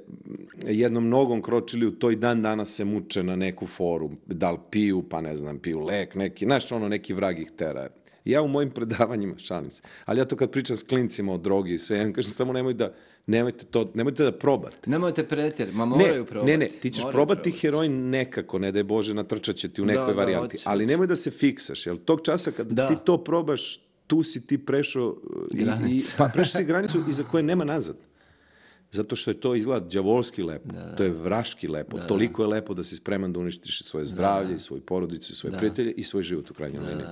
jednom nogom kročili u toj dan danas se muče na neku foru, da li piju, pa ne znam, piju lek neki, znaš ono, neki vrag ih tera. Ja u mojim predavanjima, šalim se, ali ja to kad pričam s klincima o drogi i sve, ja im kažem samo nemoj da, nemojte to, nemojte da probate. Nemojte pretjerati, ma moraju Ne, probati. ne, ne, ti ćeš Moraju probati probati. heroin nekako, ne daj Bože, natrčat će ti u Da, nekoj da, varijanti, hoće, ali hoće. nemoj da se fiksaš, jer tog časa kad Da. ti to probaš, tu si ti prešao uh, i, i, Granicu. pa prešao si granicu iza koje nema nazad. Zato što je to izgleda đavolski lepo, to je vraški lepo, toliko je lepo da si spreman da uništiš svoje zdravlje, i svoju porodicu, i svoje prijatelje i svoj život u krajnjoj liniji.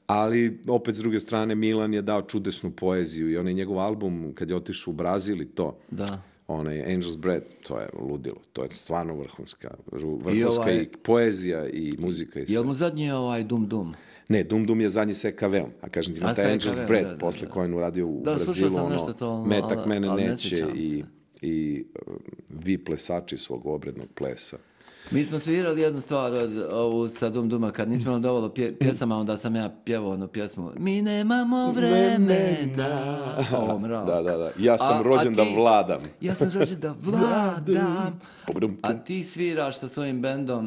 Ali, opet s druge strane, Milan je dao čudesnu poeziju i onaj njegov album, kad je otišao u Brazil i to, Da. onaj Angel's Breath, to je ludilo, to je stvarno vrhunska, vrhunska i, ovaj- poezija i muzika i sve. Jel mu zadnji je ovaj Dum Dum? Ne, Dum Dum je zadnji sa E K V-om, a kažem ti na A, taj sa Angel's E K V-om, Breath, da, da, posle da. koje on uradio u Da, slušao Brazilu, sam ono, nešto to, metak ali- mene ali ne neće sjećam i, se. i uh, vi plesači svog obrednog plesa. Mi smo svirali jednu stvar od ovu sa Dum Duma, kad nismo imali dovoljno pje, pjesama, onda sam ja pjevao onu pjesmu Mi nemamo vremena. O, mrak. Da, da, da. Ja sam A- rođen a da ti- vladam. Ja sam rođen da vladam. Pum, A ti sviraš sa svojim bendom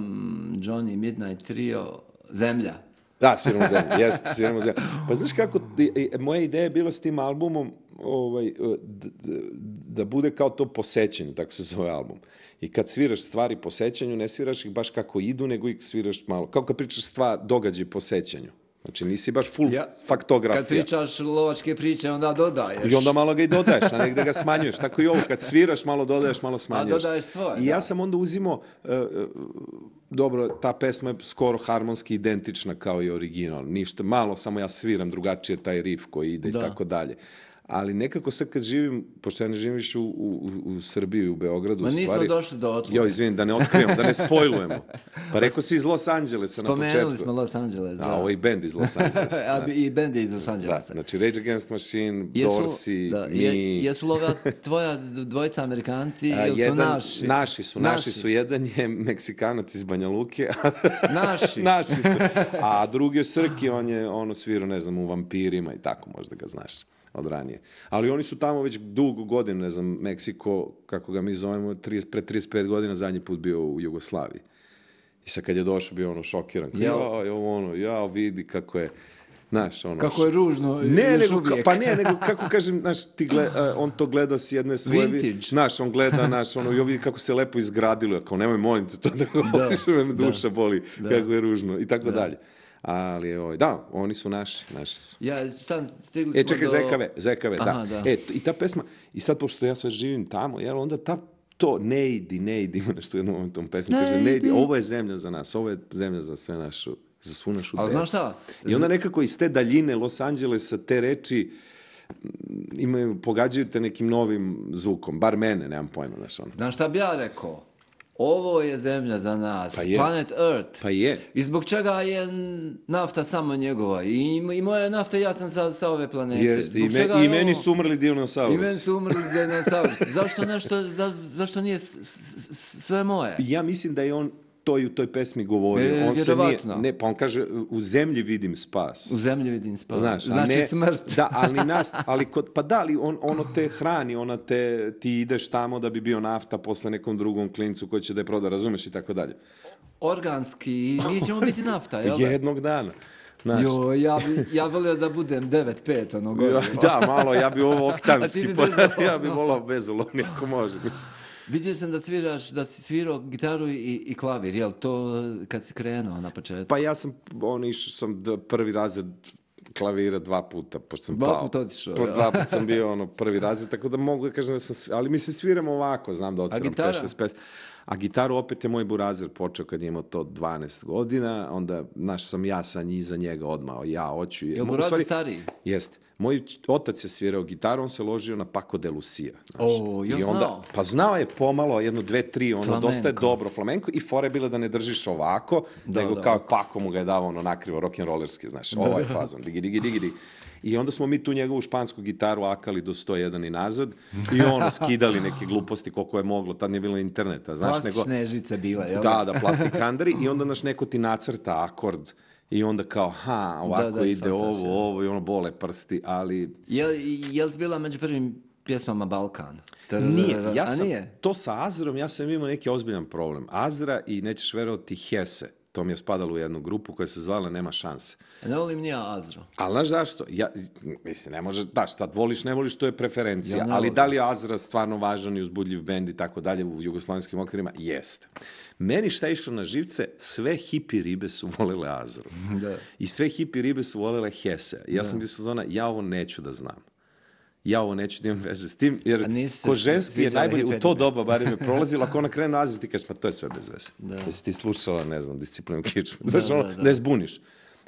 Johnny Midnight Trio Zemlja. Da, sviramo zemlju, jeste, sviramo zemlju. Pa znaš kako, i- i- moja ideja je bila s tim albumom ovaj, d- d- da bude kao to po sećanju, tako se zove album. I kad sviraš stvari po sećanju, ne sviraš ih baš kako idu, nego ih sviraš malo. Kao kad pričaš stvar, događaj po sećanju. Znači nisi baš full Ja. faktografija. Kad pričaš lovačke priče, onda dodaješ. I onda malo ga i dodaješ, a negde ga smanjuješ. Tako i ovo, kad sviraš, malo dodaješ, malo smanjuješ. dodaješ svoje, I da. ja sam onda uzimao, e, e, dobro, ta pesma je skoro harmonski identična kao i original. Ništa, malo samo ja sviram drugačije taj riff koji ide Da. i tako dalje. Ali nekako sad kad živim, pošto ja ne živim više u, u, u Srbiji i u Beogradu, Ma u nismo stvari... došli do otle. Jo, izvinim, da ne otkrivamo, da ne spojlujemo. Pa rekao si iz Los Angelesa na početku. Spomenuli smo Los Angeles, da. A, ovo je i band iz Los Angelesa. A, bi- I bendi iz Los Da, Angelesa. znači Rage Against Machine, Jesu- Dorsey, da, mi... je- jesu li ova tvoja dvojica Amerikanci A, ili su jedan- naši? Naši su, naši su. Jedan je Meksikanac iz Banja Luke. Naši. naši su. A drugi je Srki, on je ono svirao, ne znam, u Vampirima i tako, možda ga znaš od ranije. Ali oni su tamo već dugo godina, ne znam, Meksiko, kako ga mi zovemo, trideset, pre trideset pet godina zadnji put bio u Jugoslaviji. I sad kad je došao bio ono šokiran. Jel? Ja, ja, ono, ja vidi kako je, znaš, ono... Kako je ružno, Ne, još nego, ka- uvijek. pa ne, nego kako kažem, znaš, ti gle, a, on to gleda s jedne svoje... vi- Vintage. Znaš, on gleda, znaš, ono, i vidi kako se lepo izgradilo, ja kao, nemoj, molim te, to da govoriš, me duša boli, kako je ružno, i tako dalje. Ali, ovaj, da, oni su naši, naši su. Ja, šta, stigli smo E, čekaj, do... za E K V, za E K V, da. Aha, da. E, t- i ta pesma, i sad, pošto ja sad živim tamo, jel, onda ta, to, ne idi, ne idi, ima nešto u jednom momentu tom pesmi, Ne kaže, ne idi, idi. ovo je zemlja za nas, ovo je zemlja za sve našu, za svu našu Ali decu. znaš šta? I onda nekako iz te daljine Los Angelesa te reči m, imaju, pogađaju te nekim novim zvukom, bar mene, nemam pojma, znaš, ono. Znaš šta bi ja rekao? Ovo je zemlja za nas, Pa je. planet Earth. Pa je. I zbog čega je nafta samo njegova? I, i moja je nafta, ja sam sa, sa ove planete. Jeste, i, Zbog me- čega i je meni ovo- su umrli I dinosaurusi. meni su umrli dinosaurusi. Zašto nešto, za, zašto nije s- s- s- sve moje? Ja mislim da je on to i u toj pesmi govorio. E, on se nije, vjerovatno. ne, pa on kaže, u zemlji vidim spas. U zemlji vidim spas. Znaš, a znači ne- smrt. Da, ali nas, ali kod, pa da, ali on, ono te hrani, ona te, ti ideš tamo da bi bio nafta posle nekom drugom klincu koji će da je proda, razumeš i tako dalje. Organski, i mi ćemo biti nafta, jel da? Jednog dana. Znaš, Jo, ja, bi, ja volio da budem devet pet ono ja, gore. da, malo, ja bi ovo A ti oktanski, bi pa, bez olovnog. ja bi volao bez olovni, ako može. Mislim. Vidio sam da sviraš, da si svirao gitaru i, i klavir, jel to kad si krenuo na početku? Pa ja sam, on išao sam d- prvi razred klavira dva puta, pošto sam Dva pao. puta otišao, Po ja. dva puta sam bio ono prvi razred, tako da mogu da kažem da sam, svi- ali mi se sviram ovako, znam da odsviram gitara? pet šest pesama. A gitaru opet je moj burazer počeo kad je imao to dvanaest godina, onda, znaš, sam ja sa njih za njega odmah, ja hoću. Jel Mo- u burazer stvari- stariji? Jeste. Moj č- otac je svirao gitaru, on se ložio na Paco de Lucia. Znaš. O, jel I onda, znao? Pa znao je pomalo, jedno, dve, tri, ono, Flamenko. dosta je dobro flamenko i fora je bila da ne držiš ovako, Da, nego da, kao ovako. Paco mu ga je davao ono nakrivo rock'n'rollerski, znaš, ovaj fazon, digi, digi, digi, digi. I onda smo mi tu njegovu špansku gitaru akali do sto jedan i nazad i ono, skidali neke gluposti koliko je moglo, tad nije bilo interneta, znaš, nego... Plastične žice bile, jel? Da, da, plastikandari i onda naš neko ti nacrta akord i onda kao, ha, ovako Da, da, ide shvataš, ovo, ja. ovo i ono bole prsti, ali Jel, jel ti bila među prvim pjesmama Balkan? nije. Ja A sam, nije? to sa Azrom, ja sam imao neki ozbiljan problem. Azra i nećeš verovati Hese, to mi je spadalo u jednu grupu koja se zvala Nema šanse. Ne volim ni ja Azro. Ali znaš zašto? Ja, mislim, ne može, da, šta voliš, ne voliš, to je preferencija. Ja ne ali volim. da li je Azra stvarno važan i uzbudljiv bend i tako dalje u jugoslavenskim okvirima? Jeste. Meni šta je išlo na živce, sve hipi ribe su volele Azru. Da. I sve hipi ribe su volele Hese. I ja sam bio zona, ja ovo neću da znam. Ja ovo neću da imam veze s tim, jer A nisu se ko ženski je sviđale najbolji, u hipe to ribe. doba bar je prolazilo, ako ona krene na Azru, ti kažeš, pa to je sve bez veze. Da. Jesi ti slušala, ne znam, Disciplinu kičmu. Znaš, da, ono, da. da je zbuniš.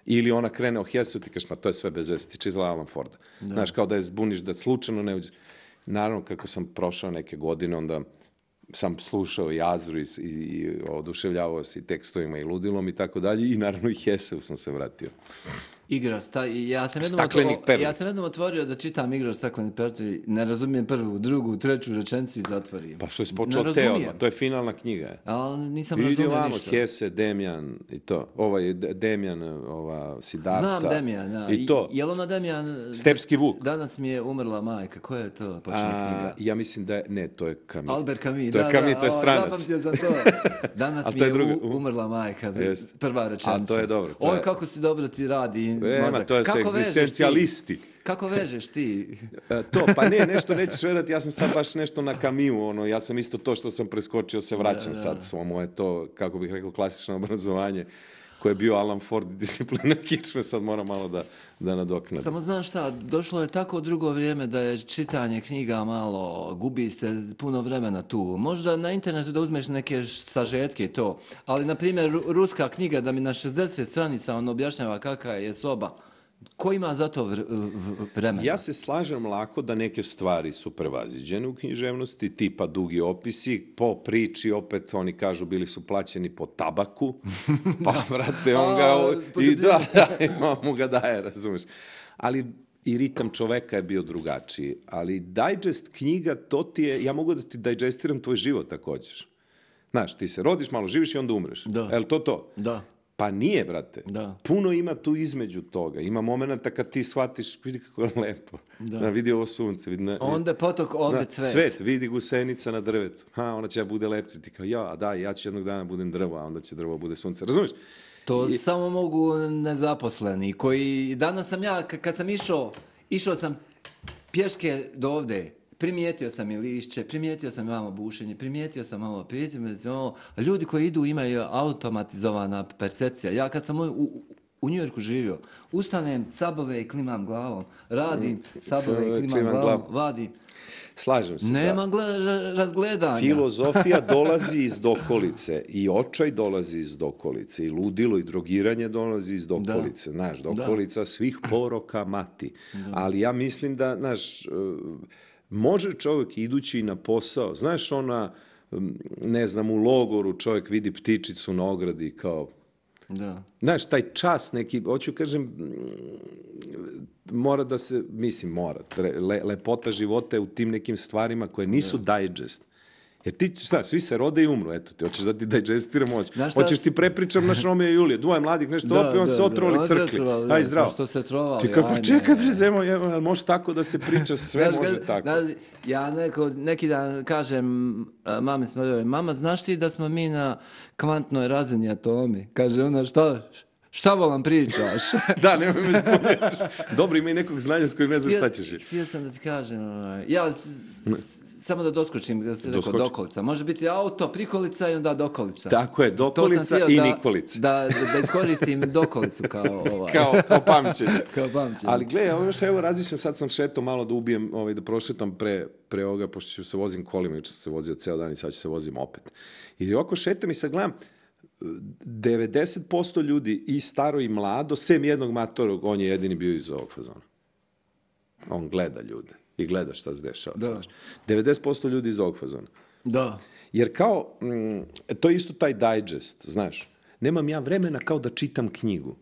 Ili ona krene o Hesu, ti kažeš, pa to je sve bez veze, ti čitala Alan Forda. Znaš, kao da je zbuniš, da slučajno ne uđe. Naravno, kako sam prošao neke godine, onda sam slušao i Azru i, i, i oduševljavao se i tekstovima i ludilom i tako dalje i naravno i Heseu sam se vratio. Igra, sta, ja, sam jednom Stakleni otvo- perli. ja sam jednom otvorio da čitam Igra stakleni perli, ne razumijem prvu, drugu, treću rečenicu i zatvorim. Pa što je Ne počeo te razumijem. odmah, to je finalna knjiga. Je. Ali nisam Vidi razumio ovamo, ništa. Hese, Demjan i to. Ovaj D- Demjan, ova Siddharta. Znam Demijan, ja. I to. Jel ono Demijan... Stepski Vuk. Danas mi je umrla majka. Koja je to počinje A, knjiga? ja mislim da je, ne, to je Camus. Albert Camus, To je da, Camus, da, to je o, stranac. zapamtio sam to. Danas A mi to je je druga- u- umrla majka. Jest. Prva rečenica. A to je dobro, to Oj, je- kako si dobro ti radi E, ma, mozak. to je sve Kako vežeš ti? egzistencijalisti. Kako vežeš ti? E, to, pa ne, nešto nećeš verati, ja sam sad baš nešto na Camusu, ono, ja sam isto to što sam preskočio, se vraćam sad, svo moje to, kako bih rekao, klasično obrazovanje, koje je bio Alan Ford i Disciplina kičme, sad moram malo da, da nadoknadim. Samo znaš šta, došlo je tako drugo vrijeme da je čitanje knjiga malo, gubi se puno vremena tu. Možda na internetu da uzmeš neke sažetke i to, ali na primjer ru- ruska knjiga da mi na šezdeset stranica on objašnjava kakva je soba. Ko ima za to vr- v- vremena? Ja se slažem lako da neke stvari su prevaziđene u književnosti, tipa dugi opisi, po priči opet oni kažu bili su plaćeni po tabaku, pa vrate on ga, A, i da, da, i mu ga daje, razumeš. Ali i ritam čoveka je bio drugačiji, ali digest knjiga, to ti je, ja mogu da ti digestiram tvoj život ako hoćeš. Znaš, ti se rodiš, malo živiš i onda umreš. Da. Jel to to? Da. Pa nije, brate. Da. Puno ima tu između toga. Ima momenta kad ti shvatiš, vidi kako je lepo. Da. Da. Vidi ovo sunce. Vidi, na, Onda potok, ovdje na, cvet. cvet. Vidi gusenica na drvetu. Ha, ona će ja bude lepti. Ti kao, ja, da, ja ću jednog dana budem drvo, a onda će drvo bude sunce. Razumiješ? To I- samo mogu nezaposleni, koji, danas sam ja, k- kad sam išao, išao sam pješke do ovde, primijetio sam i lišće, primijetio sam i malo bušenje, primijetio sam malo, primijetio sam ovo, a ljudi koji idu imaju automatizovana percepcija. Ja kad sam u, u, u Njujorku živio, ustanem, sabove i klimam glavom, radim, sabove i klimam, Klimam glavom, glavom. vadim. Slažem se. Nema da. gle- ra- razgledanja. Filozofija dolazi iz dokolice i očaj dolazi iz dokolice i ludilo i drogiranje dolazi iz dokolice. Znaš, dokolica svih poroka mati. Ali ja mislim da, znaš, e, može čovjek idući na posao, znaš ona, m, ne znam, u logoru čovjek vidi ptičicu na ogradi kao, Da. znaš, taj čas neki, hoću kažem, mm, mora da se, mislim, mora, tre- le, lepota života je u tim nekim stvarima koje nisu digest. Jer ti, šta, svi se rode i umru, eto ti, hoćeš da ti digestiram moć. Znaš šta- Hoćeš ti prepričam naš Romeo i Julije, dvoje mladih nešto Da, opet, on da, se da. otrovali On se crkli. otrovali, Aj, da, zdravo. pa što se trovali, Ti kao, pa ajme. čekaj, bre, zemo, evo, jel može tako da se priča, sve Znaš, može kad- tako. znaš, ja neko, neki dan kažem a, mami smo, mama, znaš ti da smo mi na kvantnoj razini atomi? Kaže ona, šta, šta volam pričaš? Da, nemoj me zbunješ. Dobro, ima i nekog znanja s kojim ne znaš šta ćeš. Htio sam da ti kažem, ovaj, ja s- s- samo da doskočim, da se rekao Doskoči. dokolica. Može biti auto, prikolica i onda dokolica. Tako je, dokolica To sam i htio da- nikolica. Da, da, da iskoristim dokolicu kao ovaj. Kao, kao pamćenje. Kao pamćenje. Ali gle, ovo još evo razmišljam, sad sam šetao malo da ubijem, ovaj, da prošetam pre, pre ovoga, pošto ću se vozim kolima, jučer sam se vozio ceo dan i sad ću se vozim opet. I ovako šetam i sad gledam, devedeset posto ljudi i staro i mlado, sem jednog matorog, on je jedini bio iz ovog fazona. On gleda ljude i gleda šta se dešava. Da. Znaš. devedeset posto ljudi iz ovog fazona. Da. Jer kao, mm, to je isto taj digest, znaš. Nemam ja vremena kao da čitam knjigu.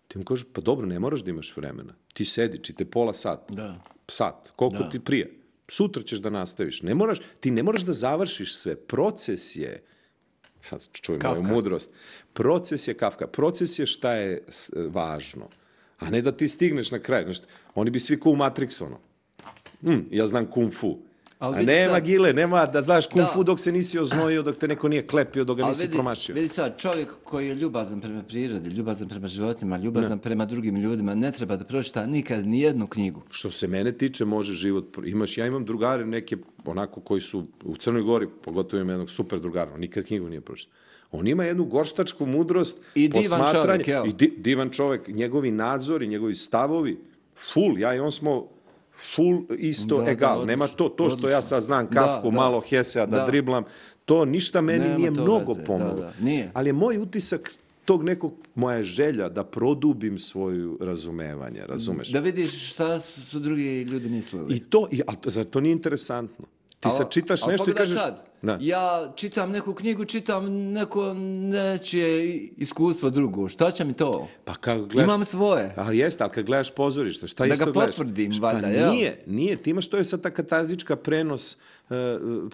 Ti mu kažeš, pa dobro, ne moraš da imaš vremena. Ti sedi, čite pola sata. Da. Sat, koliko Da. ti prije. Sutra ćeš da nastaviš. Ne moraš, ti ne moraš da završiš sve. Proces je, sad čujem moju Kafka. mudrost, proces je Kafka. Proces je šta je s- važno. A ne da ti stigneš na kraj. Znaš, oni bi svi ko u Matrixu, ono. Hm, ja znam kung fu. Ali A vidi nema sad- gile, nema da znaš kung Da. fu dok se nisi oznojio, dok te neko nije klepio, dok ga Ali nisi vidi, promašio. vidi sad, čovjek koji je ljubazan prema prirodi, ljubazan prema životima, ljubazan prema drugim ljudima, ne treba da pročita nikad ni jednu knjigu. Što se mene tiče, može život... pro- Imaš, ja imam drugare neke, onako, koji su u Crnoj Gori, pogotovo imam jednog super drugara, on nikad knjigu nije pročitao. On ima jednu gorštačku mudrost, I divan posmatranje, čovjek, evo. i di, divan čovjek, njegovi nadzori, njegovi stavovi, full, ja i on smo full isto Da, da, egal. odlično, Nema to, to što ja odlično. sad znam Da, Kafku, da. malo Hesea da, Da. driblam, to ništa meni Nema nije to mnogo veze, pomoglo. da, da, nije. Ali je moj utisak tog nekog, moja želja da produbim svoju razumevanje, razumeš? Da vidiš šta su, su drugi ljudi mislili. I to, i, a to, zar to nije interesantno? Ti Al- sad čitaš al nešto i pogledaj kažeš... sad, Da. ja čitam neku knjigu, čitam neko nečije iskustvo drugo. Šta će mi to? Pa kad gledaš... Imam svoje. Ali jeste, ali kad gledaš pozorište, šta Da isto ga gledaš? potvrdim, Šta, valjda, jel? nije, nije. Ti imaš, to je sad ta katarzička prenos, uh,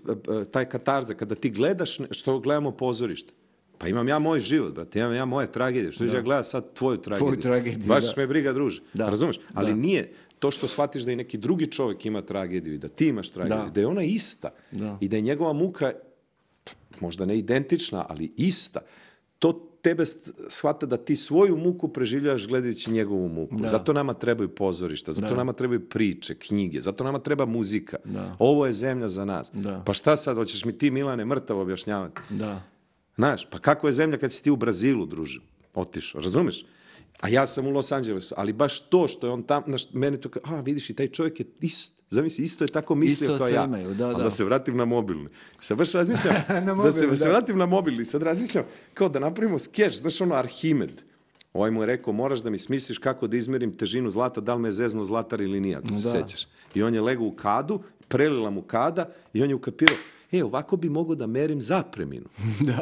uh, uh, taj katarza, kada ti gledaš ne- što gledamo pozorište. Pa imam ja moj život, brate, imam ja moje tragedije. Što ću ja gledati sad tvoju tragediju? tragediju, Baš da. me briga, druže. Da. Razumeš? Ali Da. nije to što shvatiš da i neki drugi čovjek ima tragediju i da ti imaš tragediju, Da. da je ona ista Da. i da je njegova muka možda ne identična, ali ista. To tebe st- shvata da ti svoju muku preživljavaš gledajući njegovu muku. Da. Zato nama trebaju pozorišta, zato Da. nama trebaju priče, knjige, zato nama treba muzika. Da. Ovo je zemlja za nas. Da. Pa šta sad, hoćeš mi ti, Milane, mrtav objašnjavati? Da. Znaš, pa kako je zemlja kad si ti u Brazilu, druže, otišao, razumeš? A ja sam u Los Angelesu, ali baš to što je on tam, znaš, mene to kao, a vidiš i taj čovjek je isto, zamisli, isto je tako mislio Isto kao sve ja. imaju, da, Ali da. da se vratim na mobilni. Sad baš razmišljam, Na da, se, mobilni, da se da. vratim na mobilni, sad razmišljam kao da napravimo skeč, znaš ono Arhimed. Ovaj mu je rekao, moraš da mi smisliš kako da izmerim težinu zlata, da li me je zezno zlatar ili nije, ako se Da. sećaš. I on je legao u kadu, prelila mu kada i on je ukapirao, e, ovako bi mogao da merim zapreminu.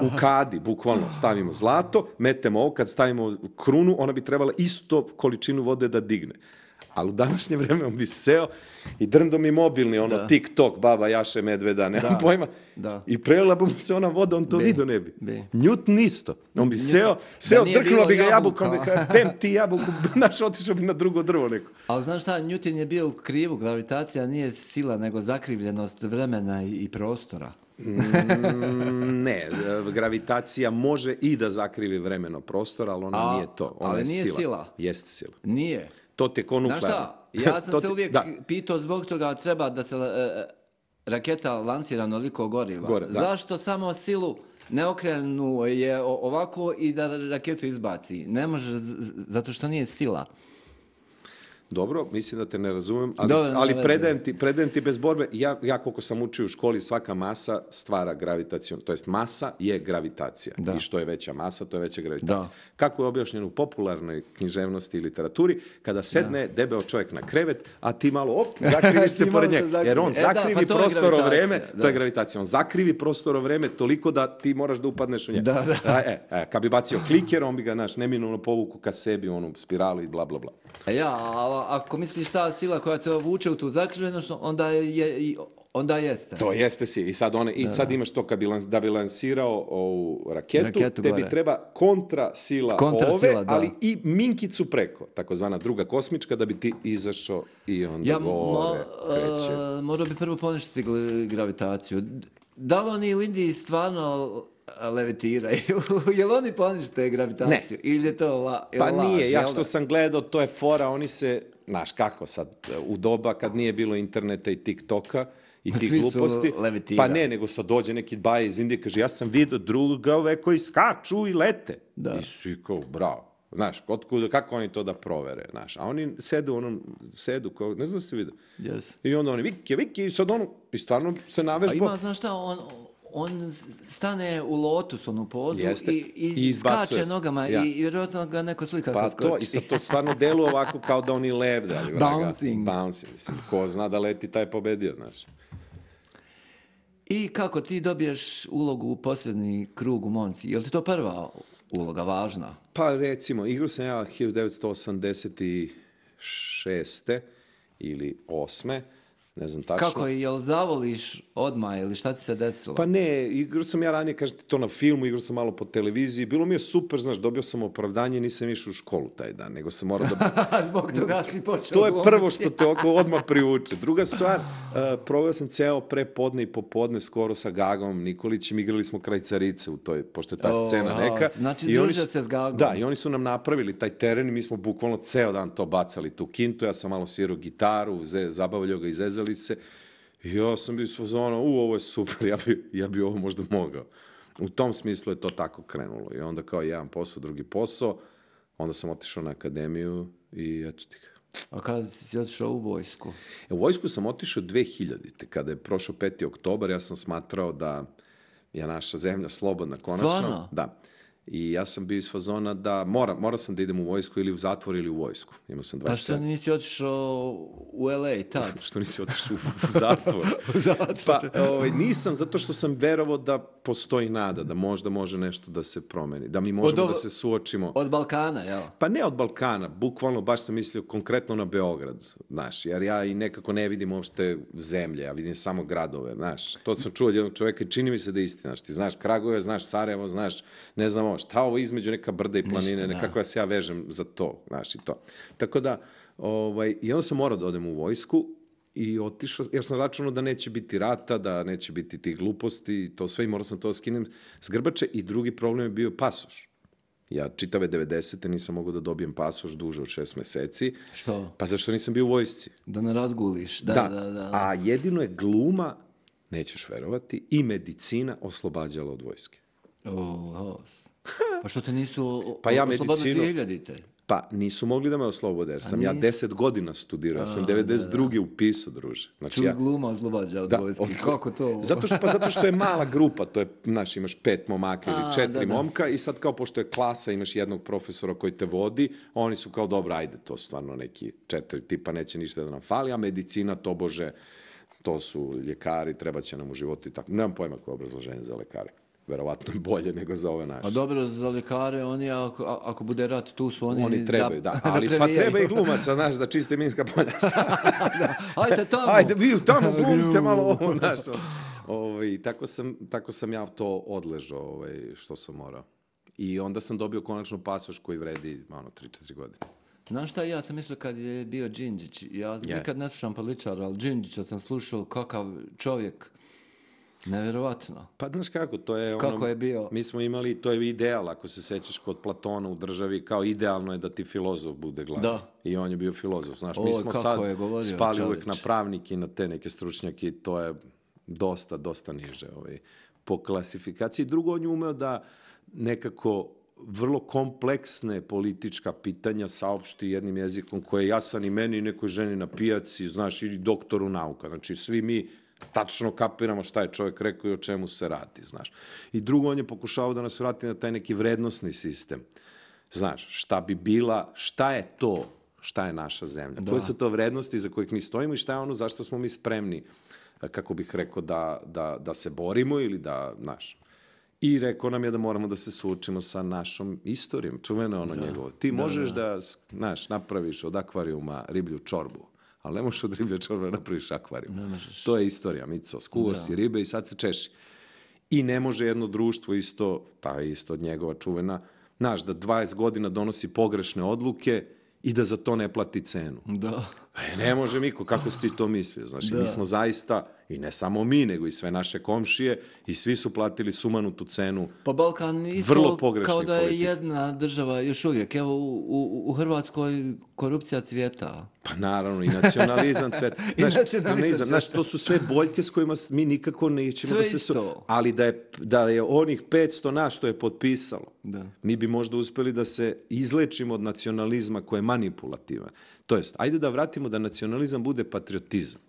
U kadi, bukvalno, stavimo zlato, metemo ovo, kad stavimo krunu, ona bi trebala isto količinu vode da digne. Ali u današnje vreme on bi seo i drndo mi mobilni, ono, Da. TikTok, baba jaše medveda, nemam Da. pojma. Da. I prelila bi mu se ona voda, on to Bi. vidio ne bi. Bi. Newton isto. On bi Newton. seo, Da seo, nije drknulo bilo bi ga jabuka. jabukom, bi kao, pem ti jabuku, znaš, otišao bi na drugo drvo neko. Ali znaš šta, Newton je bio u krivu, gravitacija nije sila, nego zakrivljenost vremena i, i prostora. Mm, ne, gravitacija može i da zakrivi vremeno prostor, ali ona A, nije to. Ona ali je nije sila. sila. Jeste sila. Nije. To te ko Znaš nuklearno. šta, ja sam To se ti- uvijek da. pitao zbog toga treba da se e, raketa lansira onoliko goriva. Gore, da. Zašto samo silu ne okrenu je o- ovako i da raketu izbaci? Ne može, z- z- zato što nije sila. Dobro, mislim da te ne razumem, ali, Dobro, nema ali veze. predajem, ti, predajem ti bez borbe. Ja, ja koliko sam učio u školi, svaka masa stvara gravitacijom. To jest masa je gravitacija. Da. I što je veća masa, to je veća gravitacija. Da. Kako je objašnjeno u popularnoj književnosti i literaturi, kada sedne debeo čovjek na krevet, a ti malo, op, zakriviš se Ti pored malo se njega. Jer on zakrivi. E da, zakrivi pa to je prostoro gravitacija, vreme, da. to je gravitacija. On zakrivi prostoro vreme toliko da ti moraš da upadneš u njega. Da, da. A, e, e, kad bi bacio kliker, on bi ga, naš, neminovno povuku ka sebi, onu spiralu i bla, bla, bla. A ja, ali ako misliš ta sila koja te vuče u tu zakrivljenost, onda, je, i- onda jeste. To jeste si. I sad, one, i sad imaš to kad bi, lans- da bi lansirao ovu raketu, Raketu tebi gore. treba kontra sila Kontra ove, sila, da. ali i minkicu preko, takozvana druga kosmička, da bi ti izašao i onda Ja gore kreće. mo, morao bi prvo poništiti gl- gravitaciju. Da li oni u Indiji stvarno levitiraju? Jel oni ponište gravitaciju? Ili je to la, Pa laž, nije, ja jel što da? sam gledao, to je fora, oni se, znaš kako sad, u doba kad nije bilo interneta i TikToka, i ti Svi su gluposti. levitirali. Pa ne, nego sad dođe neki baje iz Indije, kaže, ja sam vidio drugove koji skaču i lete. Da. I svi kao, bravo. Znaš, otkud, kako oni to da provere, znaš. A oni sedu u onom, sedu, kao, ne znam da ste vidio. Yes. I onda oni, viki, viki, i sad ono, i stvarno se A navežba. ima, znaš šta, on, on stane u lotus, onu pozu, Jeste. i, i, I izbacuje skače se. nogama Ja. i, i vjerojatno ga neko slika Pa kad skoči. to, i sad to stvarno deluje ovako kao da oni lebde, ali vraga. Bouncing. Bouncing, mislim, ko zna da leti, taj pobedio, znaš. I kako ti dobiješ ulogu u posljednji krug u Monci? Je li ti to prva uloga, važna? Pa recimo, igrao sam ja hiljadu devetsto osamdeset šeste ili osme, ne znam tačno. Kako je, jel zavoliš odmah ili šta ti se desilo? Pa ne, igrao sam ja ranije, kažete, to na filmu, igrao sam malo po televiziji, bilo mi je super, znaš, dobio sam opravdanje, nisam išao u školu taj dan, nego sam morao da... Zbog toga si počeo To je glumiti. prvo što te oko odmah privuče. Druga stvar, uh, proveo sam ceo prepodne i popodne skoro sa Gagom Nikolićem, igrali smo kraj Carice u toj, pošto je ta O, scena aha, neka. znači I oni družio su- se s Gagom. Da, i oni su nam napravili taj teren i mi smo bukvalno ceo dan to bacali, tu kintu, ja sam malo svirao gitaru, ze- zabavljao ga, izezali se. I ja sam bio iz fazona, u, ovo je super, ja bi, ja bi ovo možda mogao. U tom smislu je to tako krenulo. I onda kao jedan posao, drugi posao, onda sam otišao na akademiju i eto ti ga. A kada si otišao u vojsku? E, u vojsku sam otišao dve hiljadite. Kada je prošao peti oktobar, ja sam smatrao da je naša zemlja slobodna konačno. Stvarno? Da. I ja sam bio iz fazona da mora, morao sam da idem u vojsku ili u zatvor ili u vojsku. Imao sam Pa dvadeset što sedam. nisi otišao u L A tad? Što nisi otišao u, u zatvor? Zatvor. Pa ovaj, nisam, zato što sam verovao da postoji nada, da možda može nešto da se promeni, da mi možemo ovo- da se suočimo. Od Balkana, jel? Pa ne od Balkana, bukvalno baš sam mislio konkretno na Beograd, znaš, jer ja i nekako ne vidim uopšte zemlje, ja vidim samo gradove, znaš. To sam čuo od jednog čoveka i čini mi se da je istina, znaš, ti znaš Kragujevac, znaš Sarajevo, znaš, ne znam ovo, šta ovo između neka brda i planine, Ništa, da. nekako ja se ja vežem za to, znaš, i to. Tako da, ovaj, i onda sam morao da odem u vojsku i otišao, jer sam računao da neće biti rata, da neće biti tih gluposti, i to sve, i morao sam to da skinem s grbače, i drugi problem je bio pasoš. Ja čitave devedesete nisam mogao da dobijem pasoš duže od šest meseci, Što? pa zašto nisam bio u vojsci? Da ne razguliš. Da, da, da. da. A jedino je gluma, nećeš verovati, i medicina oslobađala od vojske. O, pa što te nisu Pa ja oslobodili medicinu- hiljadite? Pa nisu mogli da me oslobode, jer sam ja nisi- deset godina studirao, ja sam devedeset druge upisao, druže. Znači, Čuj ja, gluma oslobađa od Da, vojske. od- Kako to? Zato što, pa zato što je mala grupa, to je, znaš, imaš pet momaka ili A, četiri da, da. momka, i sad kao pošto je klasa, imaš jednog profesora koji te vodi, oni su kao, dobro, ajde, to stvarno neki četiri tipa, neće ništa da nam fali, a medicina, tobože, to su ljekari, treba će nam u životu i tako. Nemam pojma koje je obrazloženje za lekare. Verovatno je bolje nego za ove naše. Pa dobro, za lekare, oni, ako, a- ako bude rat, tu su oni... Oni trebaju, da, ali pa previjaju. treba i glumaca, znaš, da čiste minska polja. Ajde tamo. Ajde, vi tamo glumite malo ovo, znaš. Ovaj, tako, sam, tako sam ja to odležao, ovaj, što sam morao. I onda sam dobio konačno pasoš koji vredi, ono, tri četiri godine. Znaš šta, ja sam mislio kad je bio Đinđić, ja Je. nikad ne slušam političara, ali Đinđića sam slušao kakav čovjek, nevjerovatno. Pa, znaš kako, to je ono... Kako je bio? Mi smo imali, to je ideal, ako se sećaš kod Platona u državi, kao idealno je da ti filozof bude glavni. Da. I on je bio filozof, znaš. Mi Oj, smo kako sad je govorio spali uvek čoveč. na pravnike i na te neke stručnjake, i to je dosta, dosta niže ovaj, po klasifikaciji. Drugo, on je umeo da nekako vrlo kompleksne politička pitanja saopšti jednim jezikom koji je jasan i meni i nekoj ženi na pijaci, znaš, ili doktoru nauka. Znači, svi mi tačno kapiramo šta je čovjek rekao i o čemu se radi, znaš. I drugo, on je pokušao da nas vrati na taj neki vrednosni sistem. Znaš, šta bi bila, šta je to, šta je naša zemlja. Da. Koje su to vrednosti za kojih mi stojimo i šta je ono zašto smo mi spremni, kako bih rekao, da, da, da se borimo ili da, znaš. I rekao nam je da moramo da se suočimo sa našom istorijom. Čuveno ono njegovo. Ti možeš da, znaš, napraviš od akvarijuma riblju čorbu, ali ne možeš od riblje čorbe napraviš akvarijum. Ne možeš. To je istorija, Mico. Skuo si ribe i sad se češi. I ne može jedno društvo isto, ta je isto od njegova čuvena, znaš, da dvadeset godina donosi pogrešne odluke i da za to ne plati cenu. Da. E, ne može, Miko, kako si ti to mislio? Znaš, i mi smo zaista, I ne samo mi, nego i sve naše komšije i svi su platili sumanutu cenu. Pa Balkan isto Vrlo pogrešnih kao da je politika. jedna država još uvijek. Evo u, u, u Hrvatskoj korupcija cvijeta. Pa naravno, i nacionalizam, cvet. I Znaš, nacionalizam znaš, to su sve boljke s kojima s- mi nikako nećemo Sve da se... isto. Su... Ali da je, da je onih petsto nas što je potpisalo, Da. mi bi možda uspjeli da se izlečimo od nacionalizma koji je manipulativan. To jest, ajde da vratimo da nacionalizam bude patriotizam.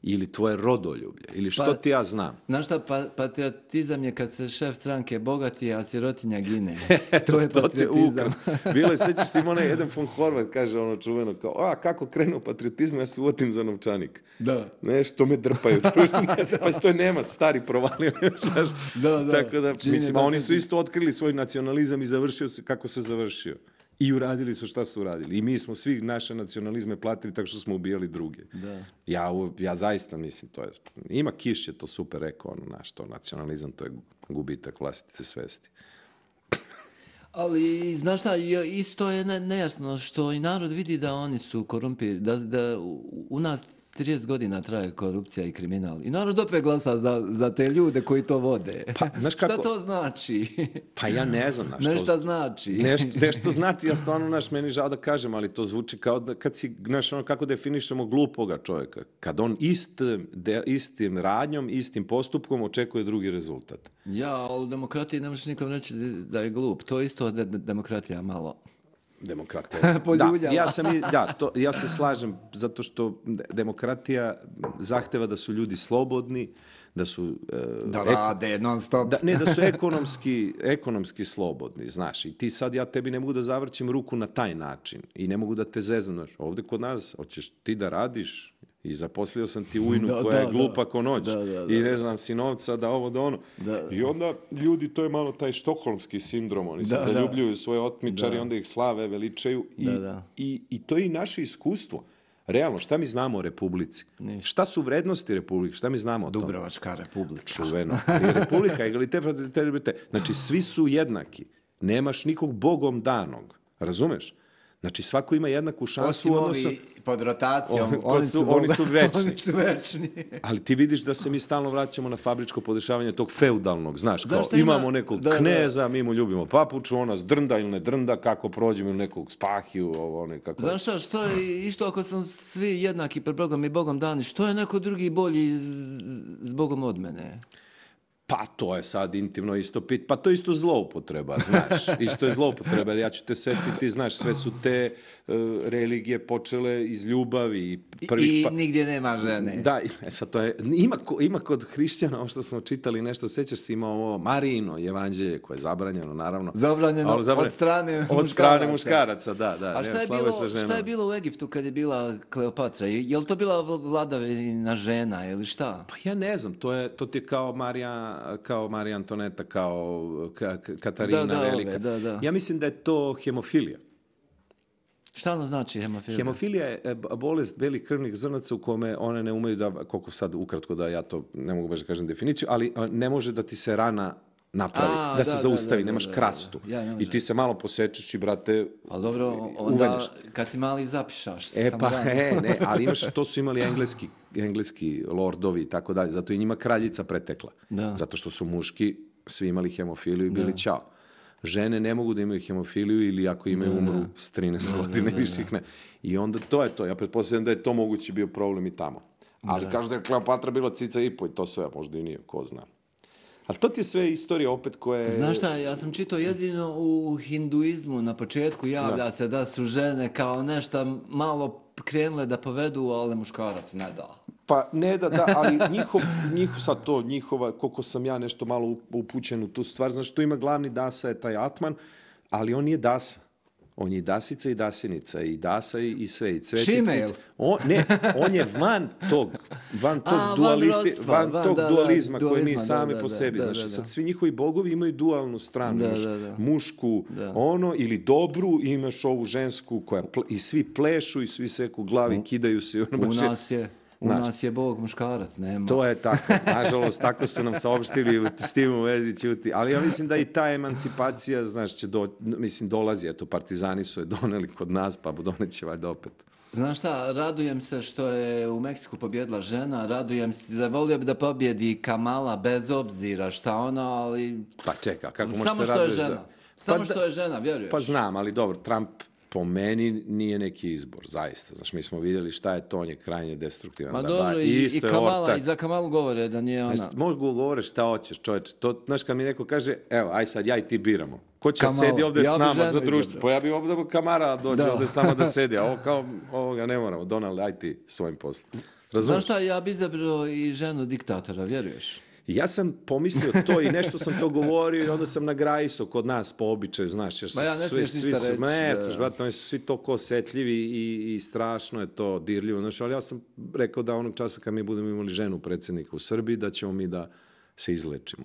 Ili tvoje rodoljublje. Ili što Pa- ti ja znam. Znaš šta, pa, patriotizam je kad se šef stranke bogati, a sirotinja gine. To je To ti je patriotizam. ukras. Bilo je, sećaš se, ima onaj jedan von Horvat, kaže ono čuveno, kao, a kako krenuo patriotizam, ja se uvotim za novčanik. Da. Nešto me drpaju. Pa to je Nemac, stari provalio. Znaš. Da, da. Tako da, Čini mislim, da a oni ne su bi- isto otkrili svoj nacionalizam i završio se kako se završio. I uradili su šta su uradili. I mi smo svi naše nacionalizme platili tako što smo ubijali druge. Da. Ja, u- ja zaista mislim, to je, ima Kiš je to super rekao, ono, naš, to nacionalizam, to je gubitak vlastite svesti. Ali, znaš šta, je- isto je ne- nejasno što i narod vidi da oni su korumpirani, da, da u u nas trideset godina traje korupcija i kriminal. I narod opet glasa za, za te ljude koji to vode. Pa, znaš kako- Šta to znači? Pa ja ne znam, znaš, to- Nešto znači. Nešto, nešto znači, ja stvarno, naš, meni žao da kažem, ali to zvuči kao da kad si, znaš, ono kako definišemo glupoga čovjeka. Kad on ist, de, istim radnjom, istim postupkom očekuje drugi rezultat. Ja, ali u demokratiji ne možeš nikom reći da je glup. To je isto de- de- demokratija malo. Demokratija. da, Poljuljala. ja, sam, i- da, to, ja se slažem, zato što de- demokratija zahteva da su ljudi slobodni, da su... e, Da ek- rade non stop. Da, ne, da su ekonomski, ekonomski slobodni, znaš, i ti sad, ja tebi ne mogu da zavrćem ruku na taj način i ne mogu da te zeznam, znaš, ovdje kod nas, hoćeš ti da radiš i zaposlio sam ti ujnu Da, koja da, je glupa da. ko noć Da, da, da. i ne znam si novca da ovo da ono. Da. I onda ljudi, to je malo taj štokholmski sindrom, oni se Da, da. zaljubljuju svoje otmičari, Da. onda ih slave, veličaju i, Da, da. I, i to je i naše iskustvo. Realno, šta mi znamo o Republici? Ništa. Šta su vrednosti Republike? Šta mi znamo o tome? Dubrovačka republika. Čuveno. I Republika, egalitet, fraternite, liberté. Znači, svi su jednaki. Nemaš nikog bogom danog. Razumeš? Znači, svako ima jednaku šansu Osim u odnosu... ovi pod rotacijom, O, ko oni su- su, oni su večni. Oni su večni. Ali ti vidiš da se mi stalno vraćamo na fabričko podešavanje tog feudalnog, znaš, Znaš kao šta ima- imamo nekog da, da. kneza, mi mu ljubimo papuču, ona drnda ili ne drnda, kako prođemo ili nekog spahiju, ovo, one, kako... Znaš šta, što je, isto ako smo svi jednaki pred Bogom i Bogom dani, što je neko drugi bolji z- s Bogom od mene? Pa to je sad intimno isto pit, pa to je isto zloupotreba, znaš, isto je zloupotreba, jer ja ću te setiti, znaš, sve su te e, religije počele iz ljubavi i I, prvih i pa... nigdje nema žene. Da, e, sad to je, ima, ko- ima kod hrišćana, ovo što smo čitali nešto, sećaš se, ima ovo Marijino evanđelje, koje je zabranjeno, naravno. Zabranjeno Ali zabranjeno- od strane Od strane muškaraca. muškaraca, da, da. A nema šta je, slave bilo, sa šta ženama. je bilo u Egiptu kad je bila Kleopatra? Je, je li to bila vl- vladavina žena ili šta? Pa ja ne znam, to, je, to ti je kao Marija, kao Marija Antoneta, kao Ka- Ka- Katarina Da, da, ove, Velika. da, da. Ja mislim da je to hemofilija. Šta ono znači hemofilija? Hemofilija je e, b- bolest belih krvnih zrnaca u kome one ne umeju da, koliko sad ukratko da ja to ne mogu baš da kažem definiciju, ali a, ne može da ti se rana napravi, A, da, da, se da, zaustavi, da, da, nemaš da, da. krastu. Ja, ne može. I ti se malo posečeš i, brate, Ali dobro, onda uveneš. kad si mali zapišaš. E samo pa, rano. e, ne, ali imaš, to su imali engleski, engleski lordovi i tako dalje, zato je njima kraljica pretekla. Da. Zato što su muški svi imali hemofiliju i bili Da. ćao. Žene ne mogu da imaju hemofiliju ili ako imaju umru s trinaest godina i više ih ne. I onda to je to. Ja pretpostavljam da je to mogući bio problem i tamo. Ali kažu da je Kleopatra bila cica i po i to sve, možda i nije, ko zna. Ali to ti je sve istorija opet koje... Znaš šta, ja sam čitao jedino u hinduizmu na početku javlja se da su žene kao nešto malo krenule da povedu, ali muškarac ne da. Pa ne da, da, ali njihov, njihov sad to, njihova, koliko sam ja nešto malo upućen u tu stvar, znaš, tu ima glavni dasa je taj Atman, ali on nije dasa. On je i dasica i dasenica, i dasa i, i sve, i cvet i Šimail. ptic. On, ne, on je van tog, van tog, A, van dualisti, rodstva, van van, tog da, da, dualizma koji mi dualizma, da, sami da, po da, sebi, da, znaš, da, da. sad svi njihovi bogovi imaju dualnu stranu, Da, imaš da, da. mušku, Da. ono, ili dobru, i imaš ovu žensku koja, ple- i svi plešu i svi seku glavi, kidaju se. i ono U baš je- nas je, u Znaš. nas je Bog muškarac, nema. To je tako. Nažalost, tako su nam saopštili u- s tim u vezi ćuti. Ali ja mislim da i ta emancipacija, znaš, će do, mislim, dolazi. Eto, partizani su je doneli kod nas, pa doneće valjda opet. Znaš šta, radujem se što je u Meksiku pobjedila žena, radujem se, da volio bi da pobjedi Kamala bez obzira šta ona, ali... Pa čeka, kako možeš Samo se što je raduješ žena, da... samo Pa što da- je žena, vjeruješ? Pa znam, ali dobro, Trump po meni nije neki izbor, zaista. Znaš, mi smo vidjeli šta je to, on je krajnje destruktivan. Ma Da, dobro, ba, i, i isto je Kamala, ortak. i za Kamalu govore da nije ona... Znači, mogu govoriti šta hoćeš, čovječe. To, znaš, kad mi neko kaže, evo, aj sad ja i ti biramo. Ko će Kamala. sedi ovdje Ja s bi nama ženu za društvo? izabrao. Pa ja bi ovdje Kamara dođe Da. ovdje s nama da sedi, a ovo kao, ovoga ne moramo. Donald, aj ti svojim poslom. Znaš Razumiješ? šta, ja bi izabrao i ženu diktatora, vjeruješ? Ja sam pomislio to i nešto sam to govorio i onda sam nagrajisao kod nas po običaju, znaš, jer su Ma ja ne svi, smiješ svi ništa su, reći, ne, da. sluš, brate, oni su svi toliko osjetljivi i, i strašno je to dirljivo, znaš, ali ja sam rekao da onog časa kad mi budemo imali ženu predsjednika u Srbiji, da ćemo mi da se izlečimo